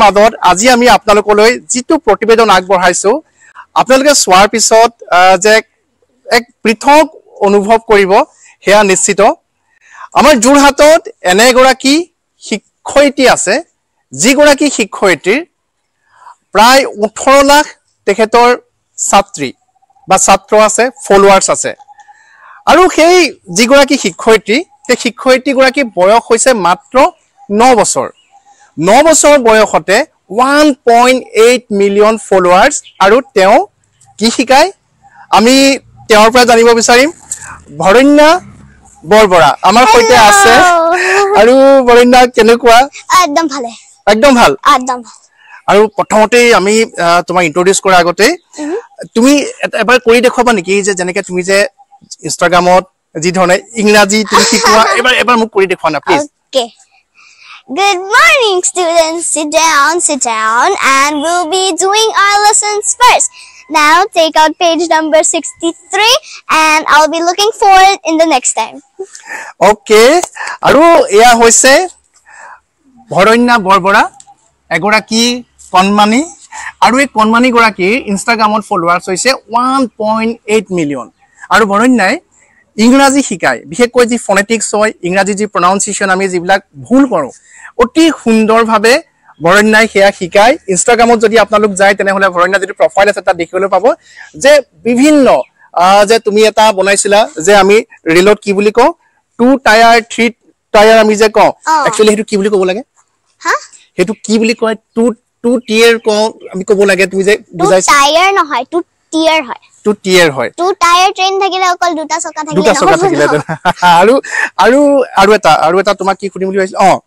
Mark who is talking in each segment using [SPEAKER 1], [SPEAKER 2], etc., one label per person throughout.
[SPEAKER 1] মাজত আজি আমি আপোনালোকলৈ যিটো প্ৰতিবেদন আগবঢ়াইছো, আপোনালোকে চোৱাৰ পিছত যে এক পৃথক অনুভৱ কৰিব সেয়া নিশ্চিত। আমাৰ যোৰহাটত এনে এগৰাকী শিক্ষয়িত্ৰী আছে, যিগৰাকী শিক্ষয়িত্ৰীৰ প্ৰায় 18 লাখ তেখেতৰ ছাত্ৰী বা ছাত্ৰ আছে, ফলোৱাৰ্ছ আছে। আৰু সেই যিগৰাকী শিক্ষয়িত্ৰী, সেই শিক্ষয়িত্ৰীগৰাকীৰ বয়স হৈছে মাত্ৰ 9 বছৰ। 9 বছৰ বয়সতে 1.8 মিলিয়ন ফলোৱাৰ্ছ। আৰু তেওঁ কি শিকায় আমি তেওঁৰ পৰা জানিব বিচাৰিম। ভৰণ্যা বৰবৰা আমাৰ সৈতে আছে। আৰু বৰণ্যা, কেনেকুৱা?
[SPEAKER 2] একদম ভালে।
[SPEAKER 1] একদম ভাল?
[SPEAKER 2] একদম ভাল।
[SPEAKER 1] আৰু প্ৰথমতেই আমি তোমাক ইন্ট্ৰডিউচ কৰাৰ আগতে তুমি এবাৰ কৰি দেখুৱাবা নেকি যে যেনেকে তুমি যে ইনষ্টাগ্ৰামত যি ধৰণে ইংৰাজী তুমি শিকোৱা, এবাৰ মোক কৰি দেখুওৱা না please.
[SPEAKER 2] Okay. Good morning, students. Sit down, sit down, and we'll be doing our lessons first. Now take out page number 63 and I'll be looking for it in the next time.
[SPEAKER 1] Okay. আৰু এয়া হৈছে ভৰণ্যা বৰবৰা, এগৰাকী কণমানি। আৰু এই কণমানিগৰাকীৰ ইনষ্টাগ্ৰামত followers হৈছে 1.8 million. আৰু ভৰণ্যাই ইংৰাজী শিকায়, বিশেষকৈ যি ফনেটিক্স হয়, ইংৰাজী যি প্ৰনাউন্সিয়েশ্যন আমি যিবিলাক ভুল কৰোঁ, অতি সুন্দৰভাৱে ভৰণ্যাই সেয়া শিকায়। ইনষ্টাগ্ৰামত যদি আপোনালোক যায় তেনেহ'লে ভৰণ্যা যিটো প্ৰফাইল আছে তাত দেখিবলৈ পাব যে বিভিন্ন যে তুমি এটা বনাইছিলা যে আমি ৰেলত কি বুলি কওঁ, 2 টায়াৰ 3 টায়াৰ আমি যে কওঁ, একচুৱেলি সেইটো কি বুলি ক'ব লাগে?
[SPEAKER 2] হা?
[SPEAKER 1] সেইটো কি বুলি কয়? টু টিয়াৰ কওঁ আমি ক'ব লাগে। তুমি যে বুজাইছা
[SPEAKER 2] টায়াৰ নহয়, 2 টিয়াৰ হয়।
[SPEAKER 1] 2 টিয়াৰ হয়।
[SPEAKER 2] 2 টায়াৰ ট্ৰেইন থাকিলে অকল দুটা চকা থাকিলে
[SPEAKER 1] দুটা চকা থাকিলে। আৰু আৰু আৰু এটা আৰু এটা তোমাক কি সুধিম বুলি ভাবিছিলো,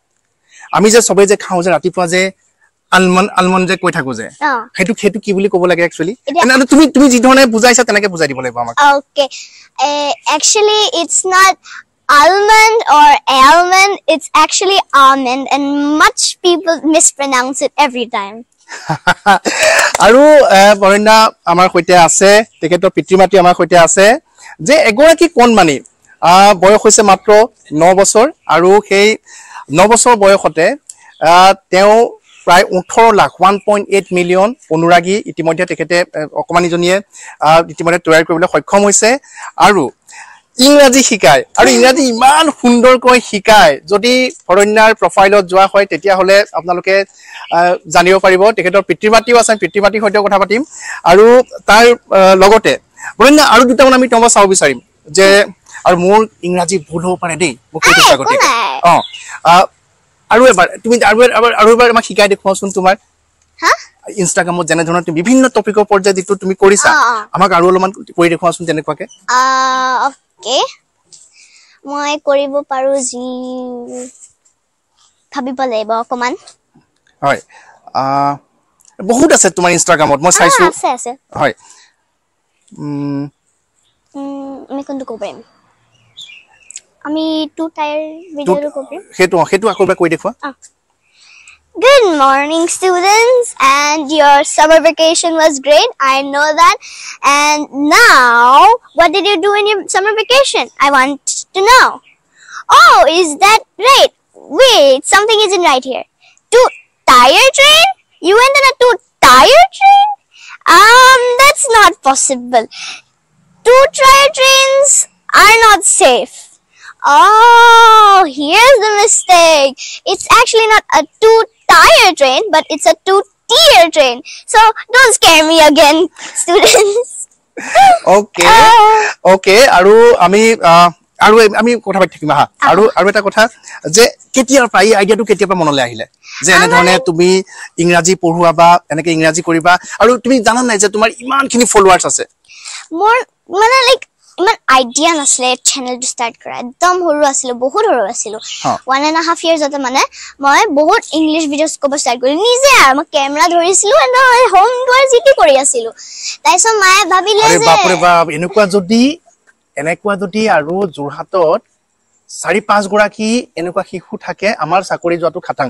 [SPEAKER 1] আমি যে সবে যে খাওঁ যে ৰাতিপুৱা যে আলমণ্ড যে কৈ থাকো যে, সেইটো কি বুলি ক'ব লাগে একচুৱেলি? তুমি তুমি যি ধৰণে বুজাইছা তেনেকে বুজাই দিব লাগিব আমাক।
[SPEAKER 2] Okay, actually it's not almond or almond, it's actually almond, and much people mispronounce it every time.
[SPEAKER 1] আৰু বৰণ্যা আমাৰ সৈতে আছে, তেখেতৰ পিতৃ মাতৃ আমাৰ সৈতে আছে। যে এগৰাকী কণমানি, বয়স হৈছে মাত্ৰ 9 বছৰ, আৰু সেই 9 বছৰ বয়সতে তেওঁ প্ৰায় 18 লাখ 1.8 মিলিয়ন অনুৰাগী ইতিমধ্যে তেখেতে অকণমানিজনীয়ে ইতিমধ্যে তৈয়াৰ কৰিবলৈ সক্ষম হৈছে। আৰু ইংৰাজী শিকায়, আৰু ইংৰাজী ইমান সুন্দৰকৈ শিকায়, যদি ভৰণ্যাৰ প্ৰফাইলত যোৱা হয় তেতিয়াহ'লে আপোনালোকে জানিব পাৰিব। তেখেতৰ পিতৃ মাতৃও আছে, পিতৃ মাতৃৰ সৈতেও কথা পাতিম। আৰু তাৰ লগতে ভৰণ্যা আৰু দুটামান আমি তোমাৰ চাব বিচাৰিম যে, আৰু মোৰ ইংৰাজী ভুল হ'ব পাৰে দেই, মোক কৈ দিছোঁ আগতে। আৰু এবাৰ তুমি আৰু এবাৰ আমাক শিকাই দেখুৱাচোন তোমাৰ ইনষ্টাগ্ৰামত যেনেধৰণে তুমি বিভিন্ন টপিকৰ ওপৰত যে যিটো তুমি কৰিছা, আমাক আৰু অলপমান কৰি দেখুৱাচোন তেনেকুৱাকে।
[SPEAKER 2] অ'কে, মই কৰিব পাৰো, যি ভাবিব লাগিব অকমান।
[SPEAKER 1] হয়, বহুত আছে তোমাৰ ইনষ্টাগ্ৰামত, মই চাইছো।
[SPEAKER 2] আছে আছে।
[SPEAKER 1] হয়।
[SPEAKER 2] আমি কোনটো ক'ব পাৰিম? আমি 2 টায়াৰ ভিডিঅ'টো ক'ব পাৰিম।
[SPEAKER 1] সেইটো আকৌ এবাৰ কৈ দেখুওৱা।
[SPEAKER 2] Good morning, students, and your summer vacation was great. I know that. And now, what did you do in your summer vacation? I want to know. Oh, is that right? Wait, something isn't right here. 2 tire train? You went on a 2 tire train? That's not possible. 2 tire trains are not safe. Oh, here's the mistake. It's actually not a 2 tire train, but it's a 2 tier train. So don't scare me again, students.
[SPEAKER 1] Okay. Okay. আৰু আমি কথা পাতি থাকিম। হা, আৰু এটা কথা যে কেতিয়াৰ পৰা এই আইডিয়াটো কেতিয়াৰ পৰা মনলৈ আহিলে যে এনেধৰণে তুমি ইংৰাজী পঢ়োৱা বা এনেকে ইংৰাজী কৰিবা? আৰু তুমি জানা নাই যে তোমাৰ ইমানখিনি ফলোৱাৰ্ছ আছে?
[SPEAKER 2] মোৰ মানে লাইক ইমান আইডিয়া নাছিলে চেনেলটো ষ্টাৰ্ট কৰা। একদম সৰু আছিলো, বহুত সৰু আছিলো। 1.5 ইয়াৰ্ছতে মানে মই বহুত ইংলিছ ভিডিঅ'ছ ক'ব ষ্টাৰ্ট কৰিলো নিজে। আৰু মই কেমেৰা ধৰিছিলো, হোম টুৰ যিটো কৰি আছিলো। তাৰপিছত মায়ে ভাবিলে যে
[SPEAKER 1] বাপৰে বাপ, এনেকুৱা যদি আৰু যোৰহাটত 4-5 গৰাকী এনেকুৱা শিশু থাকে, আমাৰ চাকৰি যোৱাটো খাটাং,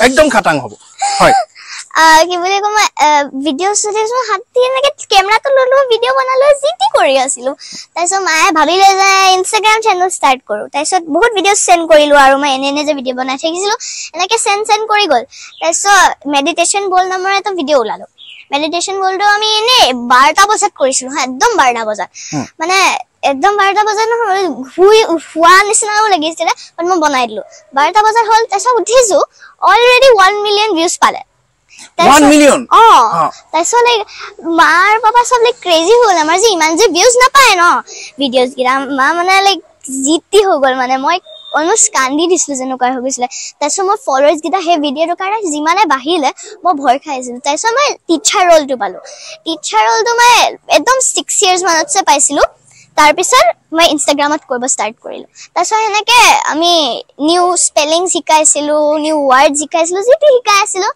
[SPEAKER 1] একদম খাটাং হ'ব। হয়।
[SPEAKER 2] কি বুলি কওঁ, মই ভিডিঅ' চিডিঅ' হাত দি এনেকৈ কেমেৰাটো ল'লো, ভিডিঅ' বনালো, যি টি কৰি আছিলো। তাৰপিছত মায়ে ভাবিলে যে ইনষ্টাগ্ৰাম চেনেল ষ্টাৰ্ট কৰোঁ। তাৰপিছত বহুত ভিডিঅ' চেণ্ড কৰিলো আৰু মই এনে এনে যে ভিডিঅ' বনাই থাকিছিলো, এনেকে চেণ্ড চেণ্ড কৰি গ'ল। তাৰপিছত মেডিটেশ্যন বল নামৰ এটা ভিডিঅ' ওলালো। মেডিটেশ্যন বলটো আমি এনেই 12টা বজাত কৰিছিলো, হা, একদম 12টা বজাত, মানে একদম 12টা বজাত নহয়, শুই শোৱা নিচিনাও লাগিছিলে, বাট মই বনাই দিলো। 12টা বজাত হ'ল। তাৰপিছত উঠিছো, অলৰেডি 1 মিলিয়ন ভিউজ পালে।
[SPEAKER 1] 1 মিলিয়ন?
[SPEAKER 2] অ। তাৰপিছত লাইক মাৰ পাপা চব লাইক ক্ৰেজি হ'ল, আমাৰ যে ইমান যে ভিউজ নাপায় ন ভিডিঅ'জ কেইটা। মা মানে লাইক জিতি হৈ গ'ল, মানে মই অলমষ্ট কান্দি দিছিলো যেনেকুৱা হৈ গৈছিলে। তাৰপিছত মই ফলোৱাৰ্ছ কেইটা সেই ভিডিঅ'টোৰ কাৰণে যিমানে বাঢ়িলে মই ভয় খাই আছিলো। তাৰপিছত মই টিচাৰ ৰ'লটো পালো। টিচাৰ ৰ'লটো মই একদম 6 ইয়াৰ্ছ মানতছে পাইছিলো। তাৰপিছত মই ইনষ্টাগ্ৰামত কৰিব ষ্টাৰ্ট কৰিলো। তাৰপিছত সেনেকে আমি নিউ স্পেলিং শিকাইছিলো, নিউ ৱাৰ্ড শিকাইছিলো, যি টি শিকাই আছিলো।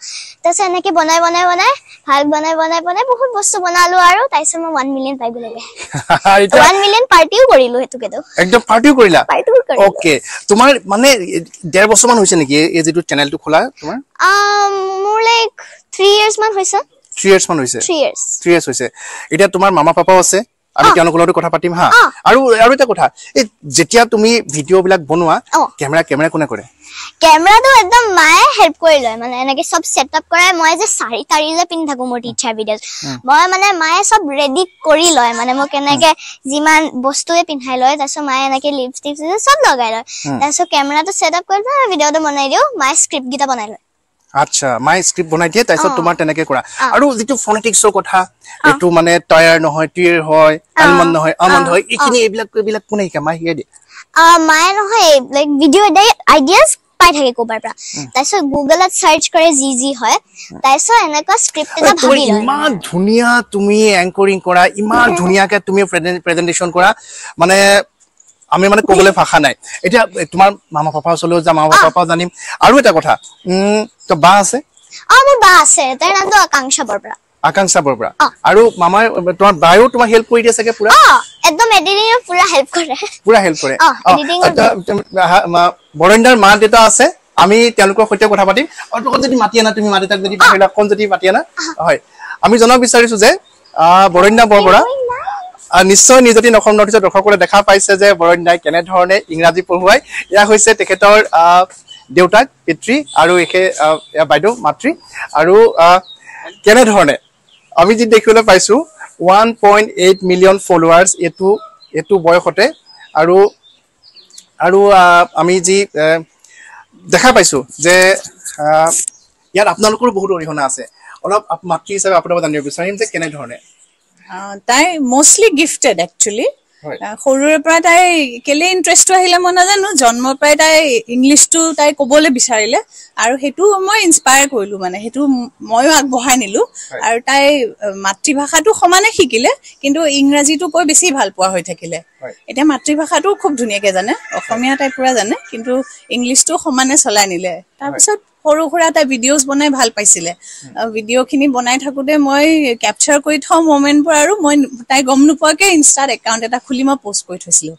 [SPEAKER 2] তাৰপিছত এনেকে বনাই বনাই বনাই ভাল বনাই বনাই বনাই বহুত বস্তু বনালো আৰু তাৰপিছত মই 1 মিলিয়ন পাই গ'লোগে। 1 মিলিয়ন পাৰ্টিও কৰিলো সেইটোকেতো।
[SPEAKER 1] একদম পাৰ্টিও কৰিলা?
[SPEAKER 2] পাৰ্টিও কৰিলো।
[SPEAKER 1] অ'কে, তোমাৰ মানে 1.5 বছৰ মান হৈছে নেকি এই যিটো চেনেলটো খোলা তোমাৰ?
[SPEAKER 2] মোৰ লাইক 3 ইয়াৰ্ছ মান হৈছে।
[SPEAKER 1] 3 ইয়াৰ্ছ মান হৈছে?
[SPEAKER 2] 3 ইয়াৰ্ছ।
[SPEAKER 1] 3 ইয়াৰ্ছ হৈছে। এতিয়া তোমাৰ মামা পাপাও আছে, আমি তেওঁলোকৰ লগতো কথা পাতিম। হা, আৰু আৰু এটা কথা, এই যেতিয়া তুমি ভিডিঅ' বিলাক বনোৱা, কেমেৰা কেমেৰা কোনে কৰে?
[SPEAKER 2] কেমেৰাটো একদম মায়ে হেল্প কৰি লয়, মানে এনেকে চব ছেট আপ কৰাই। মই যে শাৰী তাৰী যে পিন্ধি থাকো মোৰ টিচাৰ ভিডিঅ'ত, মই মানে মায়ে চব ৰেডি কৰি লয়, মানে মোক এনেকে যিমান বস্তুৱে পিন্ধাই লয়। তাৰপিছত মায়ে এনেকে লিপষ্টিক চব লগাই লয়। তাৰপিছত কেমেৰাটো ছেট আপ কৰি পেলাই ভিডিঅ'টো বনাই দিওঁ, মায়ে স্ক্ৰিপ্ট কেইটা বনাই লয়।
[SPEAKER 1] আচ্ছা, মায়ে স্ক্ৰিপ্ট বনাই দিয়ে, তাৰপিছত তোমাৰ তেনেকে কৰা। আৰু যিটো ফনেটিক্সৰ কথা, এইটো মানে টায়াৰ নহয় টিৰ হয়, আলমণ্ড নহয় আমণ্ড হয়, এইখিনি এইবিলাক এইবিলাক কোনে শিকায়? মায়ে শিকাই দিয়ে?
[SPEAKER 2] মায়ে নহয়, লাইক ভিডিঅ' আইডিয়াছ পাই থাকে ক'ৰবাৰ পৰা, তাৰপিছত গুগলত চাৰ্চ কৰে যি যি হয়, তাৰপিছত এনেকুৱা স্ক্ৰিপ্ট এটা ভাবি লয়।
[SPEAKER 1] ইমান ধুনীয়া তুমি এংকৰিং কৰা, ইমান ধুনীয়াকে তুমি প্ৰেজেন্টেশ্যন কৰা, মানে আমি মানে ক'বলৈ ভাষা নাই। এতিয়া তোমাৰ মামা পাপা ওচৰলৈও যাম, মামা পাপাও জানিম। আৰু এটা কথা, তো বা আছে?
[SPEAKER 2] অ, মোৰ বা আছে, তাইৰ নামটো আকাংক্ষা বৰবৰা।
[SPEAKER 1] আকাংক্ষা বৰবৰা। আৰু মামাই, তোমাৰ বায়ো তোমাক হেল্প কৰি দিয়ে চাগে পুৰা?
[SPEAKER 2] অ, একদম এডিটিঙৰ পুৰা হেল্প কৰে।
[SPEAKER 1] পুৰা হেল্প কৰে। বৰেন্দ্ৰৰ মা দেউতা আছে, আমি তেওঁলোকৰ সৈতে কথা পাতিম। আৰু অকণ যদি মাতি আনা, তুমি মা দেউতাক যদি বাহিৰলৈ অকণ যদি মাতি আনা। হয়, আমি জনাব বিচাৰিছো যে বৰেন্দ্ৰ বৰবৰা নিশ্চয় নিউজ 18 অসম নৰ্থ ইষ্টৰ দৰ্শকসকলে দেখা পাইছে যে বৰণ্যাই কেনেধৰণে ইংৰাজী পঢ়ুৱাই। এয়া হৈছে তেখেতৰ দেউতাক পিতৃ আৰু এয়া বাইদেউ মাতৃ। আৰু কেনেধৰণে আমি যি দেখিবলৈ পাইছো 1.8 মিলিয়ন ফলোৱাৰ্ছ এইটো বয়সতে। আৰু আৰু আমি যি দেখা পাইছো যে ইয়াত আপোনালোকৰো বহুত অৰিহণা আছে। অলপ মাতৃ হিচাপে আপোনাৰ জানিব বিচাৰিম যে কেনেধৰণে
[SPEAKER 3] তাই মষ্টলি গিফটেড একচুৱেলি। সৰুৰে পৰা তাই কেলে ইণ্টাৰেষ্টটো আহিলে মই নাজানো, জন্মৰ পৰাই তাই ইংলিছটো তাই ক'বলৈ বিচাৰিলে আৰু সেইটো মই ইনস্পায়াৰ কৰিলো, মানে সেইটো ময়ো আগবঢ়াই নিলো। আৰু তাই মাতৃভাষাটো সমানে শিকিলে, কিন্তু ইংৰাজীটো কৈ বেছি ভাল পোৱা হৈ থাকিলে। এতিয়া মাতৃভাষাটো খুব ধুনীয়াকে জানে, অসমীয়া তাই পুৰা জানে, কিন্তু ইংলিছটো সমানে চলাই নিলে। তাৰপিছত সৰু সুৰা তাই ভিডিঅ'জ বনাই ভাল পাইছিলে। ভিডিঅ'খিনি বনাই থাকোঁতে মই কেপচাৰ কৰি থওঁ মমেণ্টবোৰ, আৰু মই তাই গম নোপোৱাকে ইনষ্টাত একাউণ্ট এটা খুলি মই পষ্ট কৰি থৈছিলো।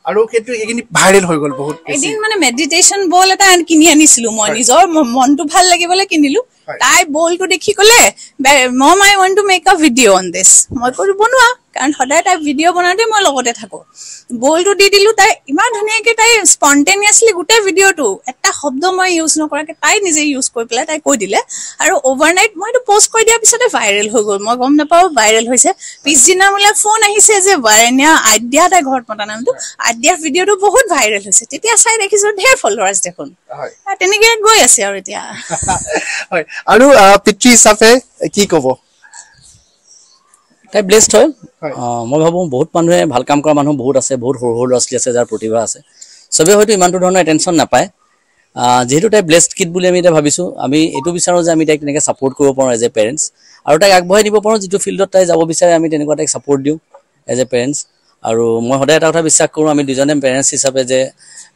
[SPEAKER 1] আৰু সেইটো সেইখিনি ভাইৰেল হৈ গ'ল বহুত।
[SPEAKER 3] এদিন মানে মেডিটেশ্যন বল এটা কিনি আনিছিলো মই, নিজৰ মনটো ভাল লাগিবলৈ কিনিলো। তাই বলটো দেখি ক'লে, mom I want to make a video on this. মই ক'লো বনোৱা, কাৰণ সদায় তাই ভিডিঅ' বনাওঁতে মই লগতে থাকো। বলটো দি দিলো, তাই ইমান ধুনীয়াকে তাই স্পণ্টেনিয়াছলি গোটেই ভিডিঅ'টো এটা শব্দ মই ইউজ নকৰাকে তাই নিজে ইউজ কৰি পেলাই তাই কৈ দিলে। আৰু অভাৰনাইট মই এইটো পষ্ট কৰি দিয়াৰ পিছতে ভাইৰেল হৈ গ'ল, মই গম নাপাওঁ ভাইৰেল হৈছে। পিছদিনা মোলৈ ফোন আহিছে যে বাৰেণ্যা আদ্যা, তাই ঘৰত মতা নামটো, আদ্যাৰ ভিডিঅ'টো বহুত ভাইৰেল হৈছে। তেতিয়া চাই দেখিছো ঢেৰ ফলোৱাৰ্ছ দেখোন, তেনেকে গৈ আছে আৰু এতিয়া।
[SPEAKER 1] হয়, আৰু পিতৃ হিচাপে কি ক'ব?
[SPEAKER 4] তাই ব্লেছড হয়। মই ভাবোঁ বহুত মানুহে ভাল কাম কৰা মানুহ বহুত আছে, বহুত সৰু সৰু ল'ৰা ছোৱালী আছে যাৰ প্ৰতিভা আছে, চবেই হয়তো ইমানটো ধৰণৰ এটেনশ্যন নাপায়। যিহেতু তাই ব্লেছড কিড বুলি আমি এতিয়া ভাবিছোঁ, আমি এইটো বিচাৰোঁ যে আমি তাইক তেনেকৈ ছাপৰ্ট কৰিব পাৰোঁ এজ এ পেৰেণ্টছ, আৰু তাইক আগবঢ়াই দিব পাৰোঁ যিটো ফিল্ডত তাই যাব বিচাৰে, আমি তেনেকুৱা তাইক ছাপৰ্ট দিওঁ এজ এ পেৰেণ্টছ। আৰু মই সদায় এটা কথা বিশ্বাস কৰোঁ, আমি দুজনে পেৰেণ্টছ হিচাপে, যে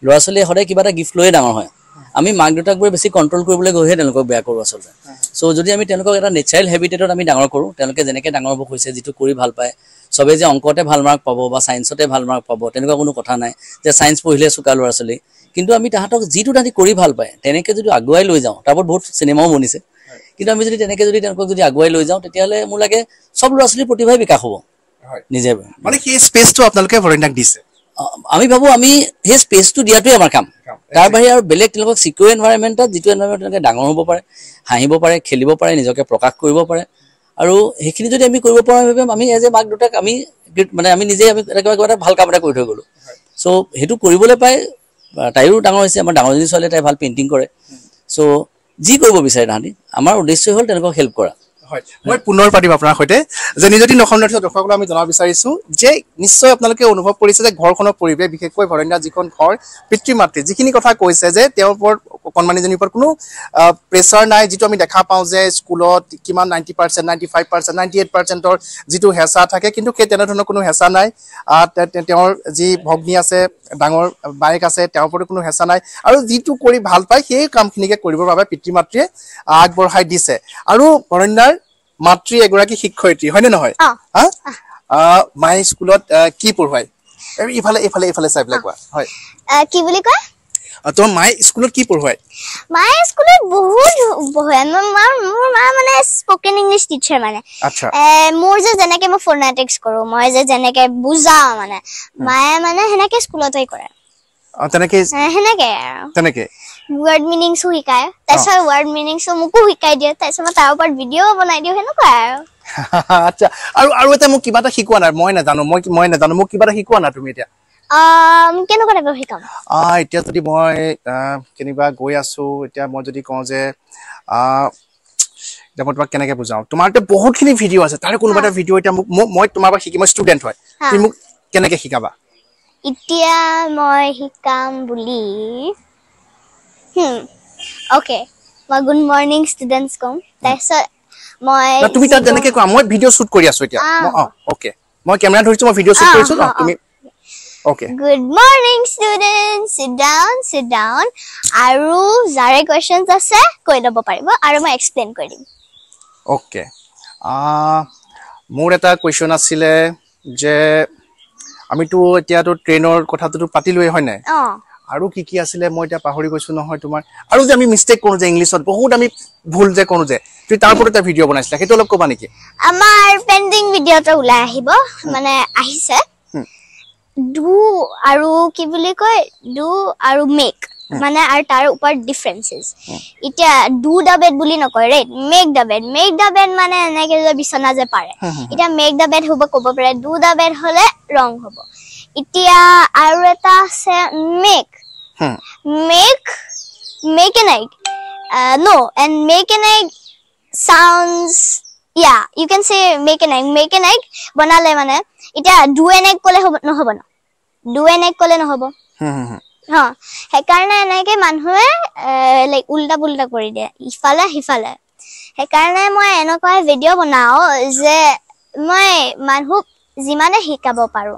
[SPEAKER 4] ল'ৰা ছোৱালীয়ে সদায় কিবা এটা গিফ্ট লৈয়ে ডাঙৰ হয়। আমি মাক দেউতাকবোৰে বেছি কণ্ট্ৰল কৰিবলৈ গৈহে তেওঁলোকক বেয়া কৰোঁ আচলতে। চ' যদি আমি তেওঁলোকক এটা নেচাৰেল হেবিটেটত আমি ডাঙৰ কৰোঁ, তেওঁলোকে যেনেকৈ ডাঙৰ হ'ব হৈছে, যিটো কৰি ভাল পায়, চবেই যে অংকতে ভাল মাৰ্ক পাব বা ছায়েন্সতে ভাল মাৰ্ক পাব তেনেকুৱা কোনো কথা নাই, যে ছায়েন্স পঢ়িলে চোকা ল'ৰা ছোৱালী, কিন্তু আমি তাহাঁতক যিটো তাহাঁতি কৰি ভাল পায় তেনেকৈ যদি আগুৱাই লৈ যাওঁ, তাৰ ওপৰত বহুত চিনেমাও বনিছে। কিন্তু আমি যদি তেনেকৈ যদি তেওঁলোকক যদি আগুৱাই লৈ যাওঁ, তেতিয়াহ'লে মোৰ লাগে চব ল'ৰা ছোৱালীৰ প্ৰতিভাই বিকাশ হ'ব নিজে।
[SPEAKER 1] মানে সেই স্পেচটো আপোনালোকে বৰণ্যাক দিছে?
[SPEAKER 4] আমি ভাবোঁ আমি সেই স্পেচটো দিয়াটোৱে আমাৰ কাম। তাৰ বাহিৰে আৰু বেলেগ তেওঁলোকক চিকিউৰ এনভাইৰনমেণ্টত, যিটো এনভাইৰনমেণ্ট তেওঁলোকে ডাঙৰ হ'ব পাৰে, হাঁহিব পাৰে, খেলিব পাৰে, নিজকে প্ৰকাশ কৰিব পাৰে, আৰু সেইখিনি যদি আমি কৰিব পাৰোঁ, আমি আমি এজ এ মাক দেউতাক আমি মানে আমি নিজে আমি কিবা এটা ভাল কাম এটা কৰি থৈ গ'লোঁ। চ' সেইটো কৰিবলৈ পাই তাইও ডাঙৰ হৈছে। আমাৰ ডাঙৰজনী ছোৱালীয়ে তাই ভাল পেইণ্টিং কৰে। চ' যি কৰিব বিচাৰে তাহাঁতি, আমাৰ উদ্দেশ্যই হ'ল তেওঁলোকক হেল্প কৰা।
[SPEAKER 1] হয়, মই পুনৰ পাতিম আপোনাৰ সৈতে। যে নিজতি অসম নৰ্থ দৰ্শকসকলক আমি জনাব বিচাৰিছো যে নিশ্চয় আপোনালোকে অনুভৱ কৰিছে যে ঘৰখনৰ পৰিৱেশ, বিশেষকৈ ভৰণ্যা যিখন ঘৰ, পিতৃ মাতৃ যিখিনি কথা কৈছে যে তেওঁৰ ওপৰত, অকণমানিজনীৰ ওপৰত কোনো প্ৰেছাৰ নাই, যিটো আমি দেখা পাওঁ যে স্কুলত কিমান 90%, 95%, 98%ৰ যিটো হেঁচা থাকে, কিন্তু সেই তেনেধৰণৰ কোনো হেঁচা নাই। তেওঁৰ যি ভগ্নী আছে, ডাঙৰ বায়েক আছে, তেওঁৰ ওপৰতো কোনো হেঁচা নাই, আৰু যিটো কৰি ভাল পায় সেই কামখিনিকে কৰিবৰ বাবে পিতৃ মাতৃয়ে আগবঢ়াই দিছে। আৰু ভৰণ্যাৰ মাতৃ এগৰাকী শিক্ষয়িত্ৰী, হয়নে নহয়? মায়ে স্কুলত কি পঢ়ুৱাই? ইফালে ইফালে ইফালে চাই পেলাই কোৱা। হয়,
[SPEAKER 2] কি বুলি কয়?
[SPEAKER 1] তোমাৰ মায়ে স্কুলত কি পঢ়ুৱাই?
[SPEAKER 2] মায়ে স্কুলত বহুত পঢ়ুৱাই। মোৰ মা মানে স্পকেন ইংলিছ টিচাৰ। মানে মোৰ যে যেনেকে মই ফোনেটিক্স কৰো, মই যে যেনেকে বুজাও, মানে মায়ে মানে সেনেকে স্কুলতে কৰে।
[SPEAKER 1] তেনেকে
[SPEAKER 2] সেনেকে
[SPEAKER 1] তেনেকে
[SPEAKER 2] ৱৰ্ড মিনিংছো শিকায়, তাৰপিছত ৱৰ্ড মিনিংছো মোকো শিকাই দিয়ে, তাৰপিছত মই তাৰ ওপৰত ভিডিঅ' বনাই দিওঁ, সেনেকুৱা আৰু।
[SPEAKER 1] আচ্ছা, আৰু আৰু এটা মোক কিবা এটা শিকোৱা নাই, মই নাজানো, মই নাজানো, মোক কিবা এটা শিকোৱা না তুমি এতিয়া।
[SPEAKER 2] কেনেকুৱা টাইপৰ শিকাম?
[SPEAKER 1] এতিয়া যদি মই কেনিবা গৈ আছো, এতিয়া মই যদি কওঁ যে এতিয়া মই তোমাক কেনেকে বুজাওঁ, তোমাৰ এতিয়া বহুতখিনি ভিডিঅ' আছে, তাৰে কোনোবা এটা ভিডিঅ' এতিয়া মোক মই তোমাৰ পৰা শিকি, মই ষ্টুডেণ্ট হয়, তুমি মোক কেনেকে শিকাবা?
[SPEAKER 2] এতিয়া মই শিকাম বুলি, অ'কে, মই গুড মৰ্ণিং ষ্টুডেণ্টছ ক'ম, তাৰপিছত মই
[SPEAKER 1] তুমি তাত যেনেকে কোৱা, মই ভিডিঅ' শ্বুট কৰি আছো এতিয়া। অ'কে, মই কেমেৰা ধৰিছো, মই ভিডিঅ' শ্বুট কৰিছো, তুমি okay.
[SPEAKER 2] Good morning students, sit down, sit down. আৰু যাৰে কুৱেশ্যনছ আছে কৈ ল'ব পাৰিব, আৰু মই এক্সপ্লেইন কৰি দিম।
[SPEAKER 1] অ'কে, মোৰ এটা কুৱেশ্যন আছিলে যে আমিতো এতিয়াতো ট্ৰেইনৰ কথাটোতো পাতিলোৱেই, হয় নাই? আৰু কি কি আছিলে মই এতিয়া পাহৰি গৈছো নহয়। তোমাৰ আৰু যে আমি মিষ্টেক কৰো যে ইংলিছত, বহুত আমি ভুল যে কৰো যে, তুমি তাৰ ওপৰত এটা ভিডিঅ' বনাইছিলা, সেইটো অলপ ক'বা নেকি?
[SPEAKER 2] আমাৰ পেণ্ডিং ভিডিঅ' এটা ওলাই আহিব, মানে আহিছে, do আৰু কি বুলি কয়, do আৰু মেক, মানে আৰু তাৰ ওপৰত ডিফাৰেঞ্চেছ। এতিয়া do the bed বুলি নকয়, right? Make the bed, make the bed মানে এনেকে যে বিচনা যে পাৰে, এতিয়া মেক the bed হ'ব ক'ব পাৰে, do the bed হ'লে ৰং হ'ব। এতিয়া আৰু এটা আছে make, make, make an egg, no, and make an egg sounds, yeah, you can say make an egg, make an egg বনালে মানে এতিয়া do N egg ক'লে হ'ব নহ'ব ন, do N egg ক'লে নহ'ব। হা, সেইকাৰণে এনেকে মানুহে লাইক উল্টা পুল্টা কৰি দিয়ে, ইফালে সিফালে। সেইকাৰণে মই এনেকুৱা ভিডিঅ' বনাও যে মই মানুহক যিমানে শিকাব পাৰো।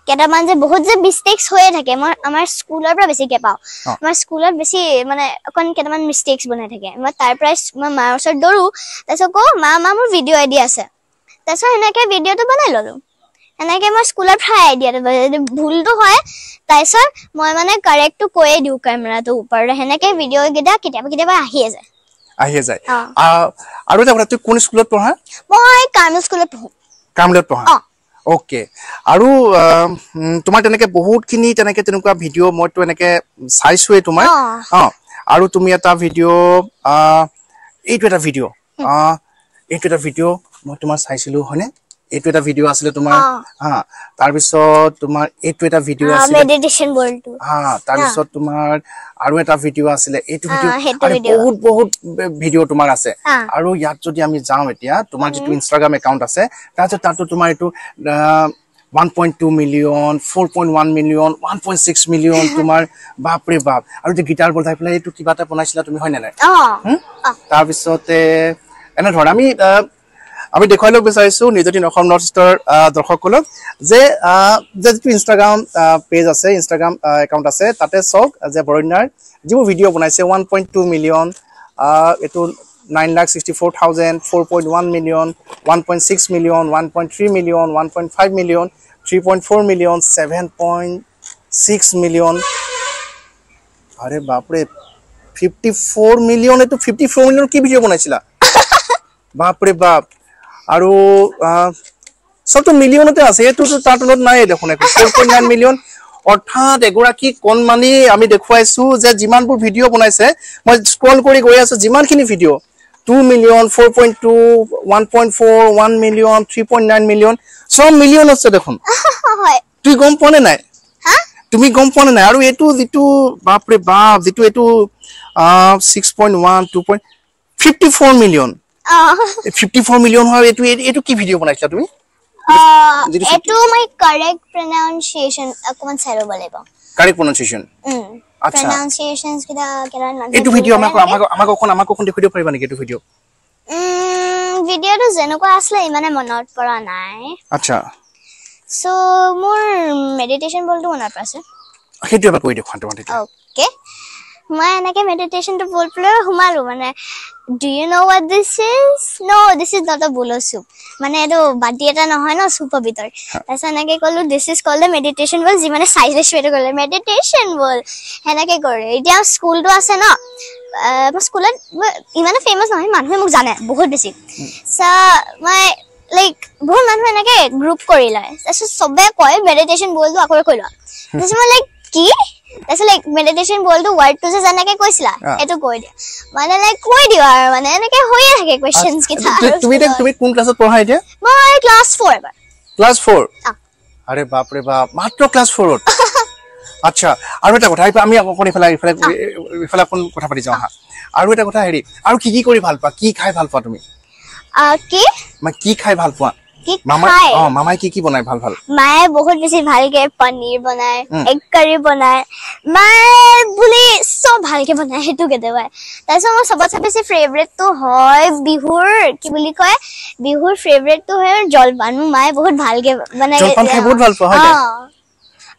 [SPEAKER 2] কেইটামান যে বহুত যে মিষ্টেক্স হৈয়ে থাকে, মই আমাৰ স্কুলৰ পৰা বেছিকে পাওঁ। আমাৰ স্কুলত বেছি মানে অকণ কেইটামান মিষ্টেক্স বনাই থাকে। মই তাৰ পৰাই মই মাৰ ওচৰত দৌৰো, তাৰপিছত কওঁ, মা মা মোৰ ভিডিঅ' আইডিয়া আছে, তাৰপিছত সেনেকে ভিডিঅ'টো বনাই ল'লো। সেনেকে মই স্কুলৰ পৰাই আইডিয়াটো, ভুলটো হয়, তাৰপিছত মই মানে কাৰেক্টটো কৈয়ে দিওঁ কেমেৰাটোৰ ওপৰত, সেনেকে ভিডিঅ' কেইটা কেতিয়াবা কেতিয়াবা আহিয়ে যায়,
[SPEAKER 1] আহিয়ে যায়। আৰু এটা কথা, তুমি কোন স্কুলত পঢ়া?
[SPEAKER 2] মই কাৰ্মেল স্কুলত পঢ়ো।
[SPEAKER 1] কাৰ্মেলত পঢ়া? অ'কে। আৰু তোমাৰ তেনেকে বহুতখিনি তেনেকে তেনেকুৱা ভিডিঅ' মইতো এনেকে চাইছোৱেই তোমাৰ। আৰু তুমি এটা ভিডিঅ', এইটো এটা ভিডিঅ', এইটো এটা ভিডিঅ' মই তোমাৰ চাইছিলো, হয়নে? এইটো এটা ভিডিঅ' আছিলে তোমাৰ। হা, তাৰপিছত তোমাৰ এইটো এটা ভিডিঅ' আছিলে
[SPEAKER 2] মেডিটেশ্যন ৱৰ্ল্ডটো।
[SPEAKER 1] হা, তাৰপিছত তোমাৰ আৰু এটা ভিডিঅ' আছিলে এইটো ভিডিঅ', বহুত বহুত ভিডিঅ' তোমাৰ আছে। আৰু ইয়াত যদি আমি যাওঁ এতিয়া তোমাৰ যিটো ইনষ্টাগ্ৰাম একাউণ্ট আছে, তাৰপিছত তাতো তোমাৰ এইটো 1.2 মিলিয়ন, 4.1 মিলিয়ন, 1.6 মিলিয়ন তোমাৰ, বাপৰে বাপ। আৰু যে গীটাৰ বজাই পেলাই এইটো কিবা এটা বনাইছিলা তুমি, হয় নে নাই? তাৰপিছতে এনেধৰণে আমি দেখুৱাই ল'ব বিচাৰিছো নিজতি অসম নৰ্থ ইষ্টৰ দৰ্শকসকলক যে যিটো ইনষ্টাগ্ৰাম পেজ আছে, ইনষ্টাগ্ৰাম একাউণ্ট আছে, তাতে চাওক যে বৰণ্যাৰ যিবোৰ ভিডিঅ' বনাইছে 1.2 মিলিয়ন, এইটো 9,64,000, 4.1 million, 1.6 million, 1.3 million, 1.5 million, 3.4 million, 7.6 million. আৰে বাপৰে, 54 মিলিয়ন, এইটো 54 মিলিয়ন কি ভিডিঅ' বনাইছিলা? বাপৰে বাপ। আৰু চবতো মিলিয়নতে আছে, এইটোতো তাৰ তলত নাই দেখোন একো। 4.9 মিলিয়ন, অৰ্থাৎ এগৰাকী কণমানি আমি দেখুৱাইছো যে যিমানবোৰ ভিডিঅ' বনাইছে, মই স্ক্ৰল কৰি গৈ আছো, যিমানখিনি video 2 million, 4.2, 1.4, 1 million, 3.9 million, চব মিলিয়ন আছে দেখোন।
[SPEAKER 2] হয়।
[SPEAKER 1] তুমি গম পোৱা নে নাই?
[SPEAKER 2] হা?
[SPEAKER 1] তুমি গম পোৱা নে নাই? আৰু এইটো যিটো, বাপৰে বাপ, যিটো এইটো 6.1, 2.54 মিলিয়ন। 54 মিলিয়ন হয়। এইটো কি ভিডিঅ' বনাইছিলা তুমি?
[SPEAKER 2] এইটো মই কাৰেক্ট প্ৰনাউন্সিয়েচন অকমান চাই ল'ব লাগিব।
[SPEAKER 1] কাৰেক্ট প্ৰনাউন্সিয়েচন? আচ্ছা।
[SPEAKER 2] প্ৰনাউন্সিয়েচনছ কেইটা কেইটা মানুহে
[SPEAKER 1] এইটো
[SPEAKER 2] ভুল
[SPEAKER 1] ভিডিঅ'
[SPEAKER 2] কৰে
[SPEAKER 1] আমাক
[SPEAKER 2] নেকি?
[SPEAKER 1] আমাক অকণ দেখুৱাই দিব পাৰিবা নেকি এইটো ভিডিঅ'?
[SPEAKER 2] ভিডিঅ'টো যেনেকুৱা আছিলে ইমানে মনত পৰা নাই।
[SPEAKER 1] আচ্ছা।
[SPEAKER 2] চ' মোৰ মেডিটেশ্যন বলটো মনত আছে।
[SPEAKER 1] সেইটো এবাৰ কৰি দেখুৱা তোমাৰ তেতিয়া।
[SPEAKER 2] অ'কে, মই এনেকে মেডিটেশ্যনটো বল পেলাই সোমালো, মানে do you know what this is? No, this is not a bowl of soup. মানে এইটো বাতি এটা নহয় ন চুপৰ ভিতৰত। তাৰপিছত এনেকে ক'লো this is called the meditation bowl, যি মানে চাইজ সেইটো ক'লে মেডিটেশ্যন বল, সেনেকে কৰে। এতিয়া স্কুলটো আছে ন, মোৰ স্কুলত মই ইমানো ফেমাছ নহয়, মানুহে মোক জানে বহুত বেছি। চ' মই লাইক বহুত মানুহে এনেকে গ্ৰুপ কৰি লয়, তাৰপিছত চবে কয় মেডিটেশ্যন বলটো আকৌ কৈ লোৱা। তাৰপিছত মই লাইক কি, তাৰপিছত লাইক মেডিটেশ্যন বলটো ৱাৰ্ডটো যে যেনেকে কৈছিলা সেইটো কৈ দিয়া, মানে লাইক কৈ দিওঁ আৰু, মানে এনেকে হৈয়ে থাকে কুৱেশ্যনছ কেইটা। আৰু
[SPEAKER 1] তুমি এতিয়া
[SPEAKER 2] স্কুলত।
[SPEAKER 1] তুমি কোন ক্লাছত পঢ়া এতিয়া?
[SPEAKER 2] মই ক্লাছ 4 এবাৰ।
[SPEAKER 1] ক্লাছ 4?
[SPEAKER 2] অ।
[SPEAKER 1] আৰে বাপৰে বাপ, মাত্ৰ ক্লাছ 4ত? আচ্ছা, আৰু এটা কথা, আমি অকণ ইফালে অকণ কথা পাতি যাওঁ। হা, আৰু এটা কথা, হেৰি, আৰু কি কি কৰি ভাল পোৱা, কি খাই ভাল পোৱা তুমি?
[SPEAKER 2] কি?
[SPEAKER 1] মানে কি খাই ভাল পোৱা?
[SPEAKER 2] কি
[SPEAKER 1] মামাই
[SPEAKER 2] খাই?
[SPEAKER 1] অ, মামাই কি কি বনাই ভাল ভাল?
[SPEAKER 2] মায়ে বহুত বেছি ভালকে পনীৰ বনায়, এগ কাৰী বনায়, মায়ে বুলি চব ভালকে বনায় সেইটো কেতিয়াবা। তাৰপিছত মোৰ চবতছে বেছি ফেভৰেটটো হয় বিহুৰ, কি বুলি কয়, বিহুৰ ফেভৰেটটো হয় জলপান। মোৰ মায়ে বহুত ভালকে মানে
[SPEAKER 1] জলপান খাই বহুত ভাল পোৱা হয়
[SPEAKER 2] অ।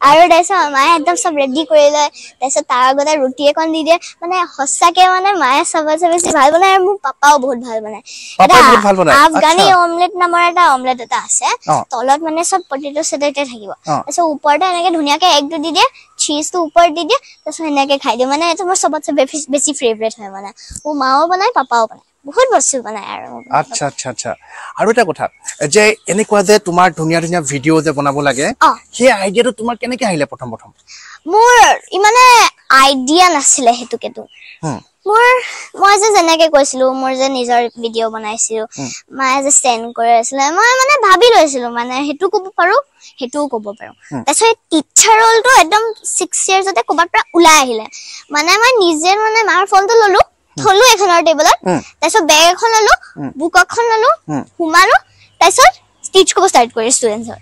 [SPEAKER 2] আৰু তাৰপিছত মায়ে একদম চব ৰেডি কৰি লয়, তাৰপিছত তাৰ আগতে ৰুটি এখন দি দিয়ে, মানে সঁচাকে মানে মায়ে চবতছে বেছি ভাল বনায়। আৰু মোৰ পাপাও বহুত ভাল বনায়।
[SPEAKER 1] পাপাই বহুত ভাল বনায়?
[SPEAKER 2] আফগানী অমলেট নামৰ এটা অমলেট এটা আছে, তলত মানে চব পটেটো চটেটো থাকিব, তাৰপিছত ওপৰতে এনেকে ধুনীয়াকে এগটো দি দিয়ে, চীজটো ওপৰত দি দিয়ে, তাৰপিছত সেনেকে খাই দিওঁ। মানে এইটো মোৰ চবতছে বেছি ফেভৰেট হয়। মানে মোৰ মাও বনায়, পাপাও বনায়, বহুত বস্তু বনায় আৰু।
[SPEAKER 1] আচ্ছা আচ্ছা আচ্ছা। আৰু এটা কথা, যে এনেকুৱা যে তোমাৰ ধুনীয়া ধুনীয়া ভিডিঅ' যে বনাব লাগে, সেই আইডিয়াটো তোমাৰ কেনেকে আহিলে প্ৰথম প্ৰথম?
[SPEAKER 2] মোৰ ইমানে আইডিয়া নাছিলে সেইটোকেতো। মই যে যেনেকে কৈছিলো, মোৰ যে নিজৰ ভিডিঅ' বনাইছিলো, মায়ে যে চেণ্ড কৰি আছিলে, মই মানে ভাবি লৈছিলো মানে সেইটো ক'ব পাৰো, সেইটোও ক'ব পাৰো। তাৰপিছত টিচাৰ ৰলটো একদম 6 ইয়াৰ্ছতে ক'ৰবাৰ পৰা ওলাই আহিলে। মানে মই নিজে মানে মাৰ ফোনটো ললো, থলো এখনৰ টেবুলত, তাৰপিছত বেগ এখন ললো, বুক এখন ললো, সোমালো, তাৰপিছত টিচ কৰিব ষ্টাৰ্ট কৰি ষ্টুডেণ্টছৰ।